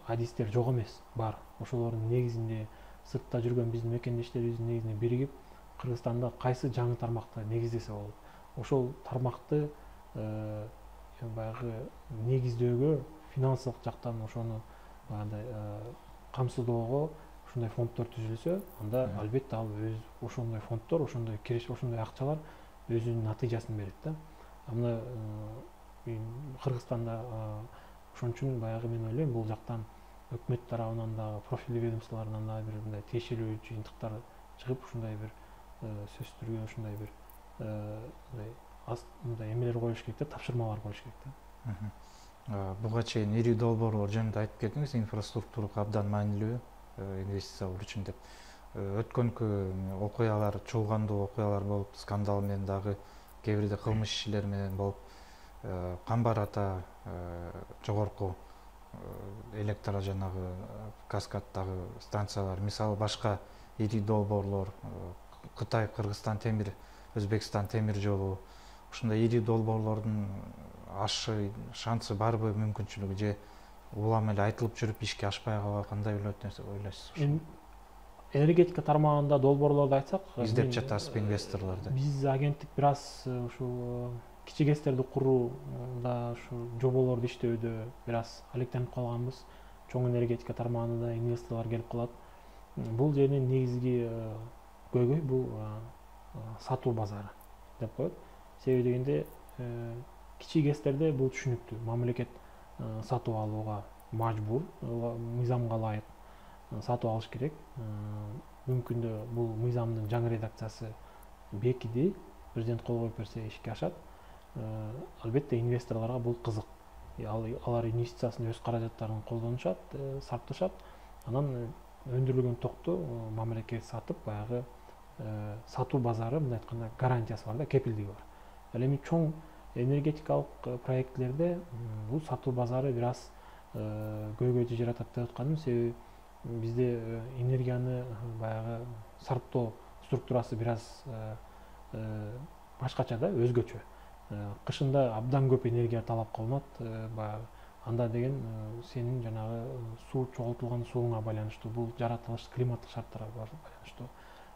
адистер жок эмес, бар. Ошолордун негизинде сыртта жүргөн биздин мекендештерибиздин негизинде биригип, Кыргызстанда кайсы жаңы тармакты негиздесе болот, ошол тармакты баягы негиздөөгө, финансылык жактан ошону баягындай камсыздоого ушундай фонддор түзүлсө, анда албетте ал өз ошондой фонддор, ошондой кириш, ошондой акчалар өзүнүн натыйжасын берет да. Мына Кыргызстанда ошон үчүн баягы мен ойлойм, бул жактан өкмөт тарабынан дагы, профилдүү ведомстволордон дагы бир мындай тиешелүү жыйынтыктар чыгып, ушундай бир сөзсүз түрдө ушундай бир мындай аз мындай эмелер коюш керек да, тапшырмалар коюш керек да. Буга чейин ири долбоорлор жөнүндө айтып кеттиңиз, инфраструктуралык абдан маанилүү инвестициялар үчүн деп. Өткөнкү окуялар, чуулгандуу окуялар болуп, скандал менен дагы кээ бирде кылмыш ишилер менен болуп, Камбар ата жогорку электр жанагы каскаддагы станциялар, мисалы башка ири долбоорлор, Кытай, Кыргызстан темир, Өзбекстан темир жолу, ушундай ири долбоорлордун ашы шансы барбы, мүмкүнчүлүгү, же улам эле айтылып жүрүп ишке ашпай калабы, кандай ойлойсуз? Энергетика тармагында долбоорлорду айтсак, издеп жатасызбы инвесторлорду? Биз агенттик бир аз ушул кичи ГЭСтерди курууда, ушу жоболорду иштөөдө бир аз алектенип калганбыз. Чоң энергетика тармагында да инвесторлор келип калат. Бул жердин негизги көйгөй бул сатуу базары деп коет. Себеби дегенде кичи ГЭСтерде бул түшүнүктүү. Мамлекет сатып алууга мажбур, мыйзамга ылайык сатып алыш керек. Бүгүнкү күндө бул мыйзамдын жаңы редакциясы бекиди, президент кол коюп берсе ишке ашат. Албетте инвесторлорго бул кызык. Алар инвестициясын өз каражаттарын колдонушат, сарпташат. Анан өндүрүлгөн токту мамлекет сатып, баягы сатуу базары, мындай айтканда гарантиясы бар да, кепилдиги бар. Ал эми чоң энергетикалык проектлерде бул сатуу базары бир аз көйгөй жаратат деп атканым, себеби бизде энергияны баягы сарптоо структурасы бир аз башкача да, өзгөчө. Кышында абдан көп энергия талап кылынат, баягы анда деген сенин жанагы суу чогултулган сууңа байланыштуу, бул жаратылыш климаттык шарттарга байланыштуу.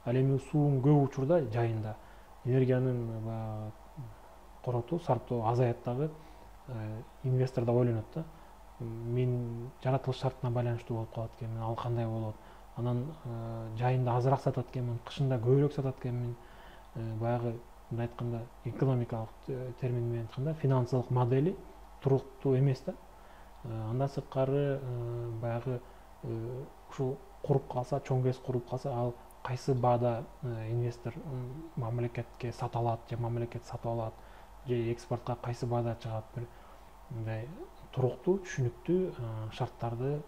Ал эми суунун көп учурда жайында энергиянын баягы коротуу, сарптоо азаят дагы, инвестор да ойлонот да. Мен жаратылыш шартына байланыштуу болуп калат экенмин, ал кандай болот? Анан жайында азыраак сатат экенмин, кышында көбүрөөк сатат экенмин. Баягы мындай айтканда экономикалык термин менен айтканда финансылык модели туруктуу эмес да. Андан сырткары баягы ушул куруп калса, чоң кес куруп калса, ал кайсы баада инвестор мамлекетке сата алат же мамлекет сатып алат же экспортко кайсы баада чыгат, бир мындай туруктуу, түшүнүктүү шарттарды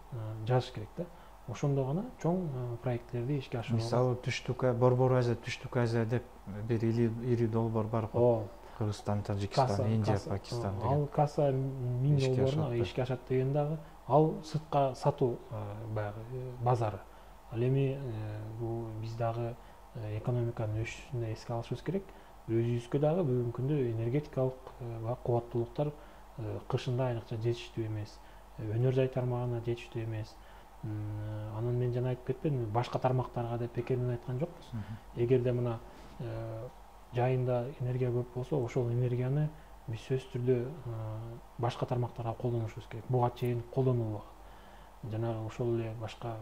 жазыш керек да. Ошондо гана чоң проекттерди ишке ашырууга. Мисалы Түштүк Борбор Азия, Түштүк Азия деп бир ири долбоор бар го. Кыргызстан, Тажикстан, Индия, Пакистан деген. Ал каса миң долларына ишке ашат деген дагы, ал сыртка сатуу баягы базары. Ал эми бул биз дагы экономиканын өсүшүндө эске алышыбыз керек. Өзүбүзгө дагы бүгүнкү күндө энергетикалык кубаттуулуктар кышында айрыкча жетиштүү эмес, өнөр жай тармагына жетиштүү эмес. Анан мен жана айтып кетпедимби, башка тармактарга деп бекерден айткан жокпуз. Эгерде мына жайында энергия көп болсо, ошол энергияны биз сөзсүз түрдө башка тармактарга колдонушубуз керек. Буга чейин колдонулбаган. Жанагы ошол эле башка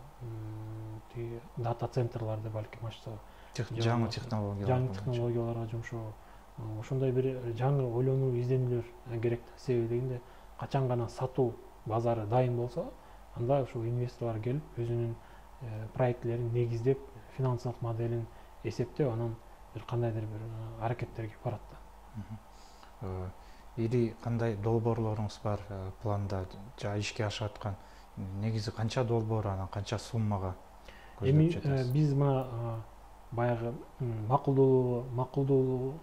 тиги дата центрларды балким ачса, жаңы технологиялар, жаңы технологияларга жумшоо, ошондой бир жаңы ойлонуу, изденүүлөр керек. Себеби дегенде качан гана сатуу базары дайын болсо, анда ушул инвесторлор келип өзүнүн проекттерин негиздеп, финансылык моделин эсептеп, анан бир кандайдыр бир аракеттерге барат да. Ири кандай долбоорлоруңуз бар планда, жа ишке ашып аткан? Негизи канча долбоор, анан канча суммага көздөп жатасыз? Эми биз мына баягы макулдуулугу макулдуулугу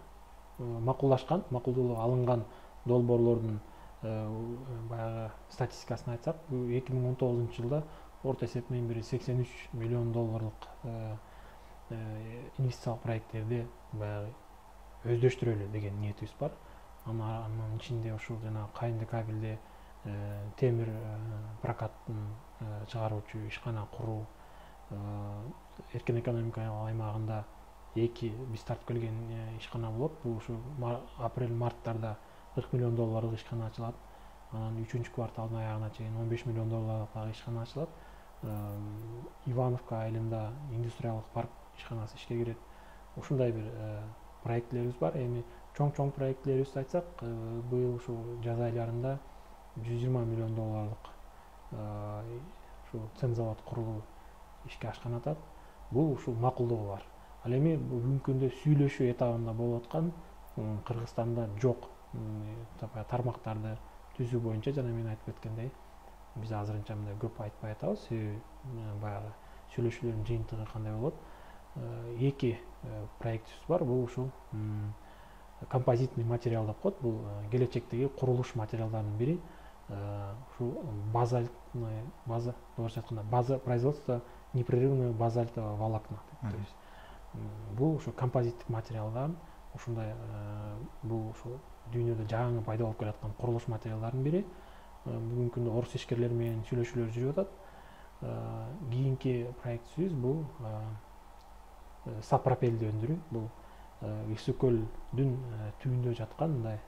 макулдашкан, макулдуулугу алынган долбоорлордун баягы статистикасын айтсак, бул эки миң он тогузунчу жылда орто эсеп менен бир сексен үч миллион долларлык инвестициялык проекттерди баягы өздөштүрөлү деген ниетибиз бар. Анын ичинде ушул жана Кайынды кабелде темир прокаттын чыгаруучу ишкана куруу, эркин экономикалык аймагында эки биз тартып келген ишкана болот. Бул ушу апрель-марттарда кырк миллион долларлык ишкана ачылат. Анан үчүнчү кварталдын аягына чейин он беш миллион долларлык ишкана ачылат. Ивановка айылында индустриялык парк ишканасы ишке кирет. Ушундай бир проектлерибиз бар. Эми чоң-чоң проектлерибизди айтсак, быйыл ушул жаз айларында жүз жыйырма миллион долларлык ушул цензавод куруу ишке ашкан атат. Бул ушул макулдугу бар. Ал эми бүгүнкү күндө сүйлөшүү этабында болуп аткан Кыргызстанда жок тармактарды түзүү боюнча, жана мен айтып кеткендей, биз азырынча мындай көп айтпай атабыз, себеби баягы сүйлөшүүлөрдүн жыйынтыгы кандай болот. Эки проектибиз бар. Бул ушул композитный материал деп коет. Бул келечектеги курулуш материалдарынын бири. Ушул базальт, база, doğrusu айтканда, база производства непрерывного базальтового волокна. То есть бул ушул композиттик материалдан, ушундай бул ушул дүйнөдө жаңы пайда болуп келаткан курулуш материалдарынын бири. Бүгүнкү күндө орус ишкерлери менен сүйлөшүүлөр жүрүп атат. Кийинки проектибиз бул сапропелди өндүрүү. Бул Ысыкөлдүн түбүндө жаткан мындай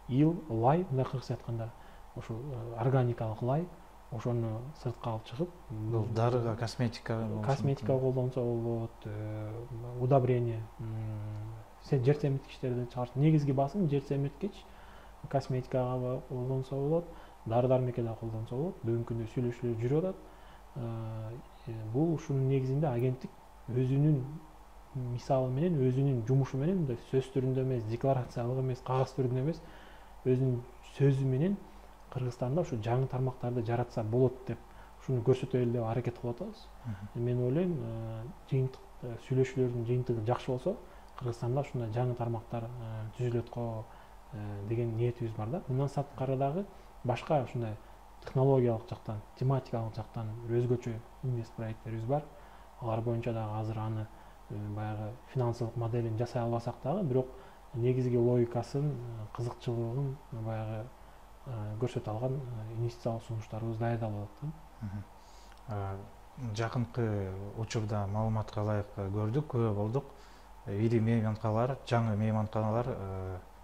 ил, лай, мындай кыргызча айтканда, ошол органикалык лай, ошону сыртка алып чыгып, бул дарыга, косметика, косметика колдонсо болот, удобрение, жер семирткичтерди чыгарып, негизги басым жер семирткич, косметикага колдонсо болот, дары-дармекеде колдонсо болот. Бүгүнкү күндө сүйлөшүүлөр жүрүп атат. Бул ушунун негизинде агенттик өзүнүн мисалы менен, өзүнүн жумушу менен, сөз түрүндө эмес, декларациялык эмес, кагаз түрүндө эмес, өзүнүн сөзү менен Кыргызстанда ушу жаңы тармактарды жаратса болот деп ушуну көрсөтөлү деп аракет кылып атабыз. Мен ойлойм, жыйынтык сүйлөшүүлөрдүн жыйынтыгы жакшы болсо Кыргызстанда ушундай жаңы тармактар түзүлөт го деген ниетибиз бар да. Мындан сырткары дагы башка ушундай технологиялык жактан, тематикалык жактан өзгөчө инвест проекттерибиз бар. Алар боюнча дагы азыр аны баягы финансылык моделин жасай албасак дагы, бирок негизги логикасын, кызыкчылыгын баягы көрсөтө алган инвестициялык сунуштарыбыз даярдалып атат. Жакынкы учурда маалыматка ылайык көрдүк, күбө болдук. Ири мейманкалар, жаңы мейманканалар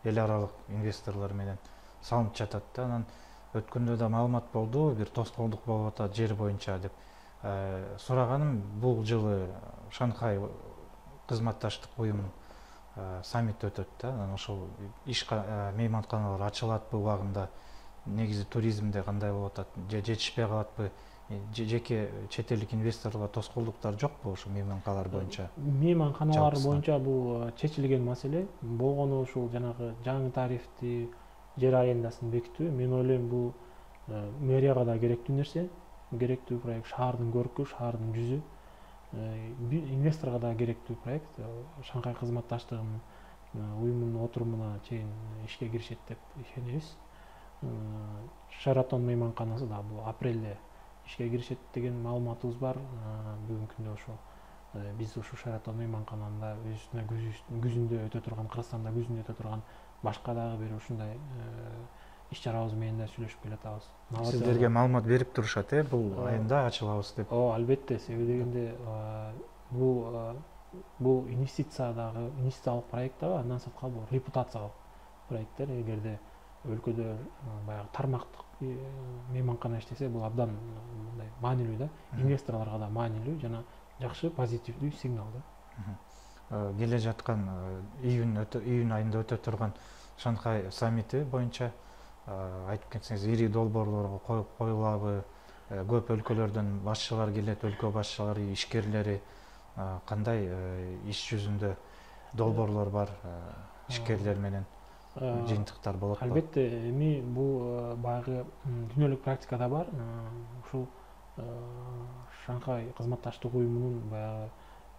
эл аралык инвесторлор менен салынып жатат да. Анан өткөндө да маалымат болду, бир тоскоолдук болуп атат жер боюнча деп. Сураганым, бул жылы Шанхай кызматташтык уюмунун саммити өтөт да. Анан ошол иш мейманканалар ачылатпы убагында, негизи туризмде кандай болуп атат, же жетишпей калатпы? Жеке чет элдик инвесторлорго тоскоолдуктар жокпу ошо мейманкалар боюнча? Мейманканалар боюнча бул чечилген маселе. Болгону ушул жанагы жаңы тарифти, жер арендасын бекитүү. Мен ойлойм, бул мэрияга да керектүү нерсе, керектүү проект, шаардын көркү, шаардын жүзү. Инвесторго да керектүү проект. Шанхай кызматташтыгынын уюмунун отурумуна чейин ишке киришет деп ишенебиз. Шаратон мейманканасы да бул апрелде ишке киришет деген маалыматыбыз бар. Бүгүнкү күндө ошо биз ушу Шаратон мейманканасында өзүнө күзүндө өтө турган, Кыргызстанда күзүндө өтө турган башка дагы бир ушундай иш чарабыз менен да сүйлөшүп келатабыз. Сиздерге маалымат берип турушат, э, бул айында ачылабыз деп. Ооба, албетте, себеби дегенде бул бул инвестиция дагы, инвестициялык проект дагы, андан сырткары бул репутациялык проекттер. Эгерде өлкөдө баягы тармактык мейманкана иштесе, бул абдан мындай маанилүү да, инвесторлорго да маанилүү жана жакшы позитивдүү сигнал да. Келе жаткан июнь июнь айында өтө турган Шанхай саммити боюнча айтып кетсеңиз, ири долбоорлорго коюлабы, көп өлкөлөрдөн башчылар келет, өлкө башчылары, ишкерлери, кандай иш жүзүндө долбоорлор бар, ишкерлер менен жыйынтыктар болот? Албетте, эми бул баягы дүйнөлүк практикада бар. Ушул Шанхай кызматташтык уюмунун баягы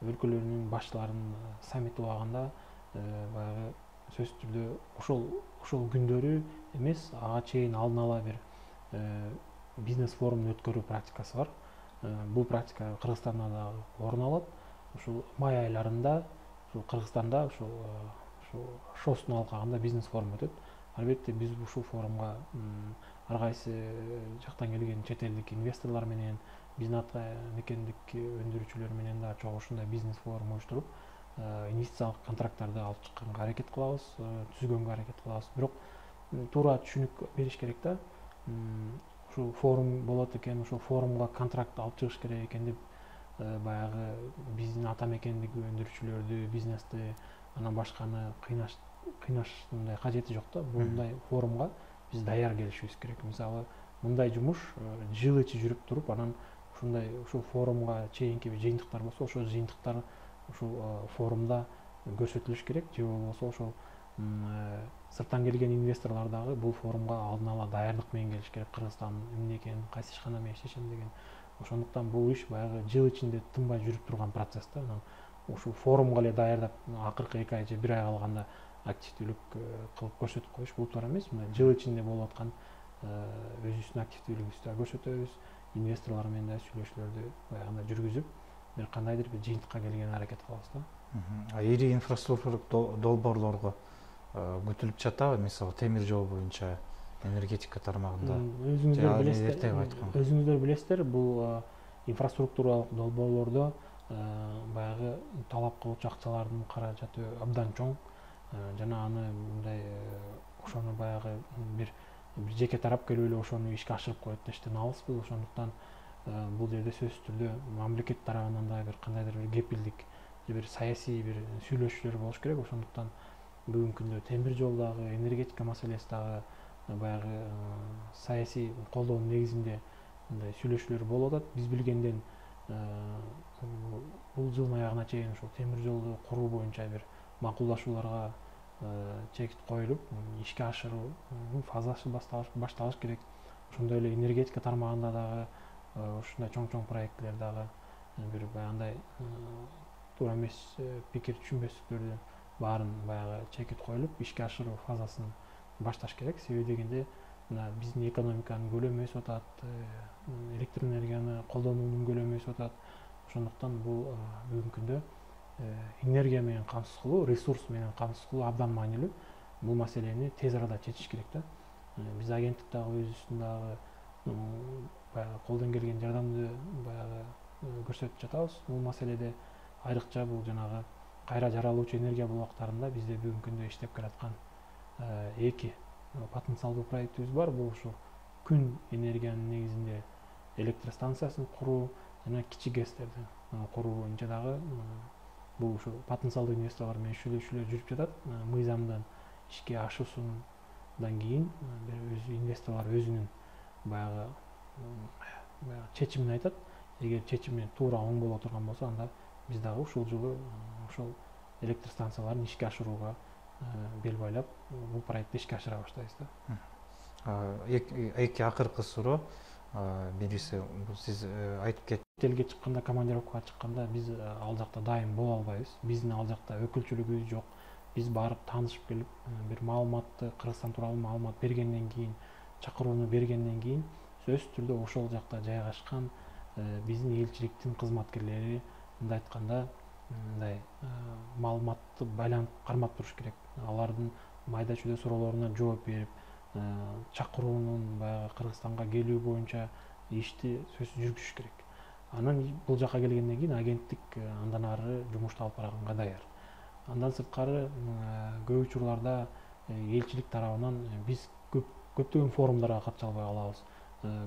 өлкөлөрүнүн башчыларынын саммити убагында баягы сөзсүз түрдө ошол ошол күндөрү эмес, ага чейин алдын ала бир бизнес форумун өткөрүү практикасы бар. Бул практика Кыргызстанда да орун алат. Ушул май айларында ушул Кыргызстанда ушул шостун алкагында бизнес форум өтөт. Албетте, биз ушул форумга ар кайсы жактан келген чет элдик инвесторлор менен, биздин атка мекендик өндүрүүчүлөр менен да чогуу ушундай бизнес форум уюштуруп, инвестициялык контракттарды алып чыкканга аракет кылабыз, түзгөнгө аракет кылабыз. Бирок туура түшүнүк бериш керек да. Ушул форум болот экен, ушул форумга контракт алып чыгыш керек экен деп баягы биздин ата мекендик өндүрүүчүлөрдү, бизнести, анан башканы кыйнаш кыйнаштын кажети жок да. Мындай форумга биз даяр келишибиз керек. Мисалы, мындай жумуш жыл ичи жүрүп туруп, анан ушундай ушул форумга чейинки жыйынтыктар болсо, ошол жыйынтыктар ушул форумда көрсөтүлүш керек. Же болбосо ошол сырттан келген инвесторлор дагы бул форумга алдын ала даярдык менен келиш керек. Кыргызстан эмне экен, кайсы ишкана менен иштешем деген. Ошондуктан бул иш баягы жыл ичинде тынбай жүрүп турган процесс да. Анан ушул форумга эле даярдап, акыркы эки ай же бир ай калганда активдүүлүк кылып көрсөтүп коюш бул туура эмес. Мына жыл ичинде болуп аткан өзүбүздүн активдүүлүгүбүздү көрсөтөбүз, инвесторлор менен да сүйлөшүүлөрдү баягындай жүргүзүп, бир кандайдыр бир жыйынтыкка келгенге аракет кылабыз да. Ири инфраструктура долбоорлорго күтүлүп жатабы? Мисалы, темир жол боюнча, энергетика тармагында. Өзүңүздөр билесиздер, өзүңүздөр билесиздер, бул инфраструктуралык долбоорлордо баягы талап кылуучу акчалардын каражаты абдан чоң, жана аны мындай ошону баягы бир жеке тарап келип эле ошону ишке ашырып коет дештен алыспыз. Ошондуктан бул жерде сөзсүз түрдө мамлекет тарабынан да бир кандайдыр бир кепилдик же бир саясий бир сүйлөшүүлөр болуш керек. Ошондуктан бүгүнкү күндө темир жол дагы, энергетика маселеси дагы баягы саясий колдоонун негизинде мындай сүйлөшүүлөр болуп атат. Биз билгенден бул жылдын аягына чейин ошол темир жолду куруу боюнча бир макулдашууларга чек коюлуп, ишке ашыруу фазасы башталыш керек. Ошондой эле энергетика тармагында дагы ушундай чоң-чоң проекттер дагы бир баягындай туура эмес пикир түшүнбөстүктөрдүн баарын баягы чекит коюлуп ишке ашыруу фазасын башташ керек. Себеби дегенде мына биздин экономиканын көлөмү өсүп атат, электр энергияны колдонуунун көлөмү өсүп атат. Ошондуктан бул бүгүнкү күндө энергия менен камсыз кылуу, ресурс менен камсыз кылуу абдан маанилүү. Бул маселени тез арада чечиш керек да. Биз агенттик дагы өзүбүздүн дагы баягы колдон келген жардамды баягы көрсөтүп жатабыз. Бул маселеде айрыкча бул жанагы кайра жаралуучу энергия булактарында бизде бүгүнкү күндө иштеп келаткан эки потенциалдуу проектибиз бар. Бул ушу күн энергиянын негизинде электростанциясын куруу жана кичи ГЭСтерди куруу боюнча дагы бул ушу потенциалдуу инвесторлор менен сүйлөшүүлөр жүрүп жатат. Мыйзамдын ишке ашуусундан кийин өз инвесторлор өзүнүн баягы чечимин айтат. Эгер чечими туура оң боло турган болсо, анда биз дагы ушул жылы ошол электростанцияларын ишке ашырууга бел байлап бул проектти ишке ашыра баштайбыз да. Эки акыркы суроо. Бириси сиз айтып кеттиңиз. Элге чыкканда, командировкага чыкканда биз ал жакта дайым боло албайбыз. Биздин ал жакта өкүлчүлүгүбүз жок. Биз барып таанышып келип, бир маалыматты, Кыргызстан тууралуу маалымат бергенден кийин, чакырууну бергенден кийин сөзсүз түрдө ошол жакта жайгашкан биздин элчиликтин кызматкерлери, мындай айтканда, мындай маалыматты байланып кармап туруш керек. Алардын майда чүйдө суроолоруна жооп берип, чакыруунун баягы Кыргызстанга келүү боюнча ишти сөзсүз жүргүзүш керек. Анан бул жака келгенден кийин агенттик андан ары жумушту алып барганга даяр. Андан сырткары көп учурларда элчилик тарабынан биз көптөгөн форумдарга катыша албай калабыз.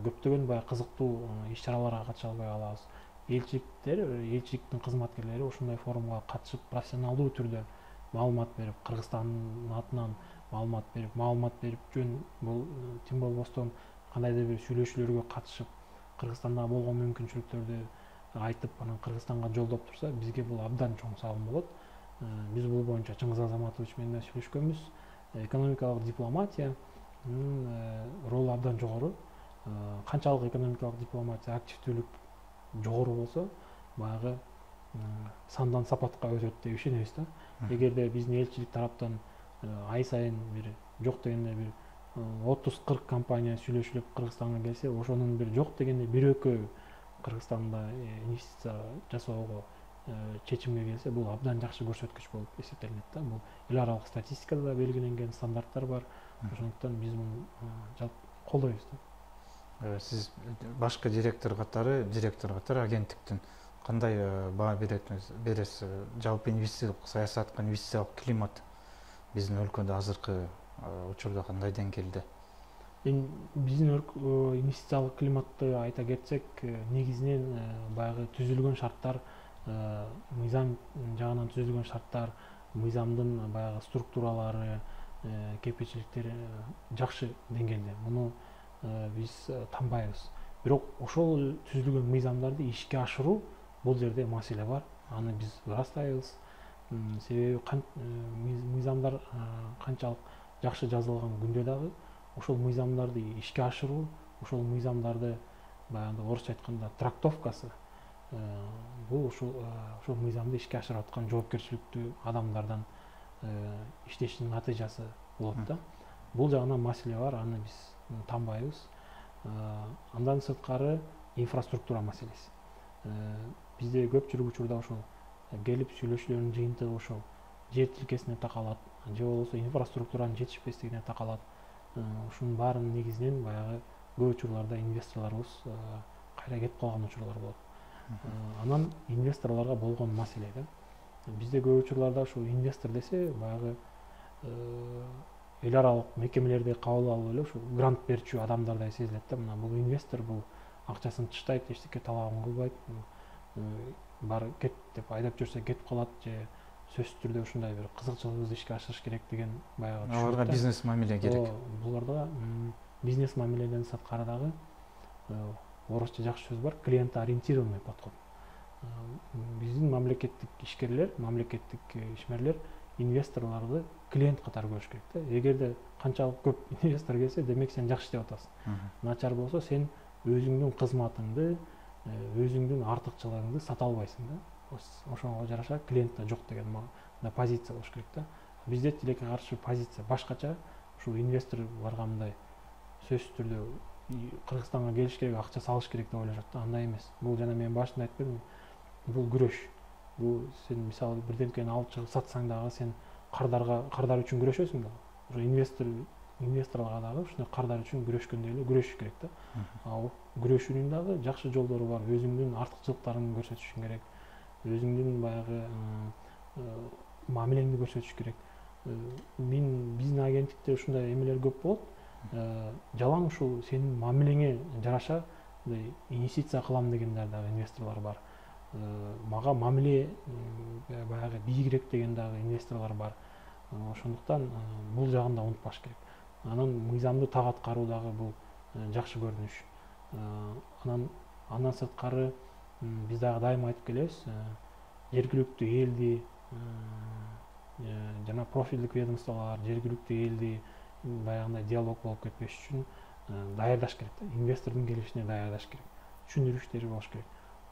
Көптөгөн баягы кызыктуу иш-чараларга катыша албай калабыз. Элчиликтер, элчиликтин кызматкерлери ошондой форумга катышып, профессионалдуу түрдө маалымат берип, Кыргызстандын атынан маалымат берип, маалымат берип жөн бул тим болбостон кандайдыр бир сүйлөшүүлөргө катышып, Кыргызстанда болгон мүмкүнчүлүктөрдү айтып, анан Кыргызстанга жолдоп турса, бизге бул абдан чоң салым болот. Биз бул боюнча Чыңгыз Азаматович менен да сүйлөшкөнбүз. Экономикалык дипломатиянын ролу абдан жогору. Канчалык экономикалык дипломатия активдүүлүк жогору болсо, баягы сандан сапатка өтөт деп ишенебиз да. Эгерде биздин элчилик тараптан ай сайын бир жок дегенде бир отуз кырк компания сүйлөшүлүп Кыргызстанга келсе, ошонун бир жок дегенде бир экөө Кыргызстанда инвестиция жасоого чечимге келсе, бул абдан жакшы көрсөткүч болуп эсептелинет да. Бул эл аралык статистикада да белгиленген стандарттар бар. Ошондуктан биз муну жалпы колдойбуз да. Сиз башкы директор катары, директор катары агенттиктин кандай баа бересиз? Жалпы инвестициялык саясатка, инвестициялык климат биздин өлкөдө азыркы учурда кандай деңгээлде? Биздин инвестициялык климатты айта кетсек, негизинен баягы түзүлгөн шарттар, мыйзам жагынан түзүлгөн шарттар, мыйзамдын баягы структуралары, кепилчиликтери жакшы деңгээлде. Муну биз танбайбыз. Бирок ошол түзүлгөн мыйзамдарды ишке ашыруу, бул жерде маселе бар. Аны биз ырастайбыз. Себеби мыйзамдар канчалык жакшы жазылган күндө дагы ошол мыйзамдарды ишке ашыруу, ошол мыйзамдарды баягы орусча айтканда трактовкасы, бул ушул ошол мыйзамды ишке ашырып аткан жоопкерчиликтүү адамдардан иштештин натыйжасы болот да. Бул жагынан маселе бар, аны биз танбайбыз. Андан сырткары инфраструктура маселеси. Бизде көпчүлүк учурда ошол келип сүйлөшүүлөрдүн жыйынтыгы ошол жер тилкесине такалат, же болбосо инфраструктуранын жетишпестигине такалат. Ушунун баарынын негизинен баягы көп учурларда инвесторлорубуз кайра кетип калган учурлар болот. Анан инвесторлорго болгон маселе да. Бизде көп учурларда ушул инвестор десе баягы эл аралык мекемелерди кабыл алып эле ушул грант берчү адамдардай сезилет да. Мына бул инвестор, бул акчасын тыштайт, эчтеке талабын кылбайт, бар кет деп айдап жүрсө кетип калат, же сөзсүз түрдө ушундай бир кызыкчылыгыбызды ишке ашырыш керек деген баягы түшүнүк. Аларга бизнес мамиле керек. Буларда бизнес мамиледен сырткары дагы орусча жакшы сөз бар, клиентоориентированный подход. Биздин мамлекеттик ишкерлер, мамлекеттик ишмерлер инвесторлорду клиент катары көрүш керек да. Эгерде канчалык көп инвестор келсе, демек сен жакшы иштеп атасың. Начар болсо сен өзүңдүн кызматыңды, өзүңдүн артыкчылыгыңды сата албайсың да. ошого жараша клиентте жок деген мындай позиция болуш керек да. Бизде тилекке каршы позиция башкача. Ушул инвестор баргандай сөзсүз түрдө Кыргызстанга келиш керек, акча салыш керек деп ойлошот да. Андай эмес. Бул жана мен башында айтып бердим. Бул күрөш. Бул сен мисалы бирдемкени алып чыгып сатсаң дагы сен кардарга кардар үчүн күрөшөсүң да. Ошо инвестор инвесторлорго дагы ушундай кардар үчүн күрөшкөндөй эле күрөшүш керек да. А күрөшүүнүн дагы жакшы жолдору бар. Өзүңдүн артыкчылыктарыңды көрсөтүшүң керек. Өзүңдүн баягы мамилеңди көрсөтүш керек. Мен биздин агенттикте ушундай эмелер көп болот. Жалаң ушул сенин мамилеңе жараша инвестиция кылам дегендер дагы инвесторлор бар. Мага мамиле баягы бийигирээк деген дагы инвесторлор бар. Ошондуктан бул жагын да унутпаш керек. Анан мыйзамды так аткаруу дагы бул жакшы көрүнүш. Анан андан сырткары биз дагы дайыма айтып келебиз. Жергиликтүү элди жана профилдик ведомстволор жергиликтүү элди баягындай диалог болуп кетпеш үчүн даярдаш керек да. Инвестордун келишине даярдаш керек. Түшүндүрүштөр болуш керек.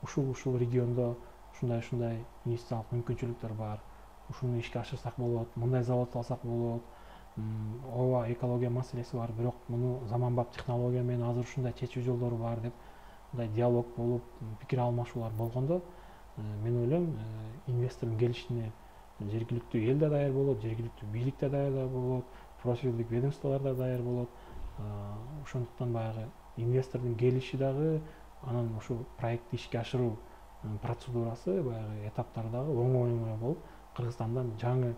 Ушул ушул региондо ушундай ушундай инвестициялык мүмкүнчүлүктөр бар. Ушуну ишке ашырсак болот, мындай завод салсак болот. Ооба экология маселеси бар, бирок муну заманбап технология менен азыр ушундай чечүү жолдору бар деп мындай диалог болуп, пикир алмашуулар болгондо, мен ойлойм, инвестордун келишине жергиликтүү эл да даяр болот, жергиликтүү бийлик да даяр болот, профилдик ведомстволор да даяр болот. Ошондуктан баягы инвестордун келиши дагы, анан ушул проектти ишке ашыруу процедурасы, баягы этаптары дагы оңой оңой болуп, Кыргызстандан жаңы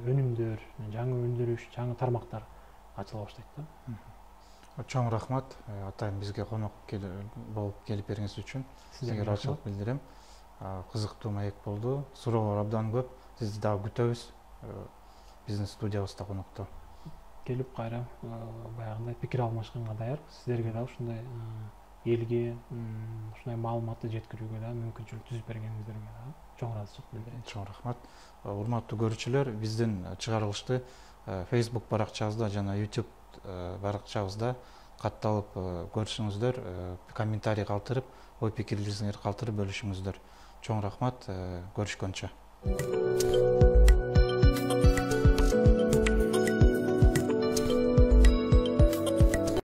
өнүмдөр, жаңы өндүрүш, жаңы тармактар ачыла баштайт да. Чоң рахмат атайын бизге конок болуп келип бериңиз үчүн. Сизге ыраачылык билдирем. Кызыктуу маек болду. Суроолор абдан көп. Сизди дагы күтөбүз. Биздин студиябызда конокто. Келип кайра баягындай пикир алмашканга даярбыз. Сиздерге дагы ушундай элге ушундай маалыматты жеткирүүгө да мүмкүнчүлүк түзүп бергениңиздерге да чоң ыраазычылык билдирем. Чоң рахмат. Урматтуу көрүүчүлөр, биздин чыгарылышты Facebook баракчабызда жана YouTube баракчабызда катталып көрүшүңүздөр, комментарий калтырып, ой пикириңиздерди калтырып бөлүшүңүздөр. Чоң рахмат, көрүшкөнчө.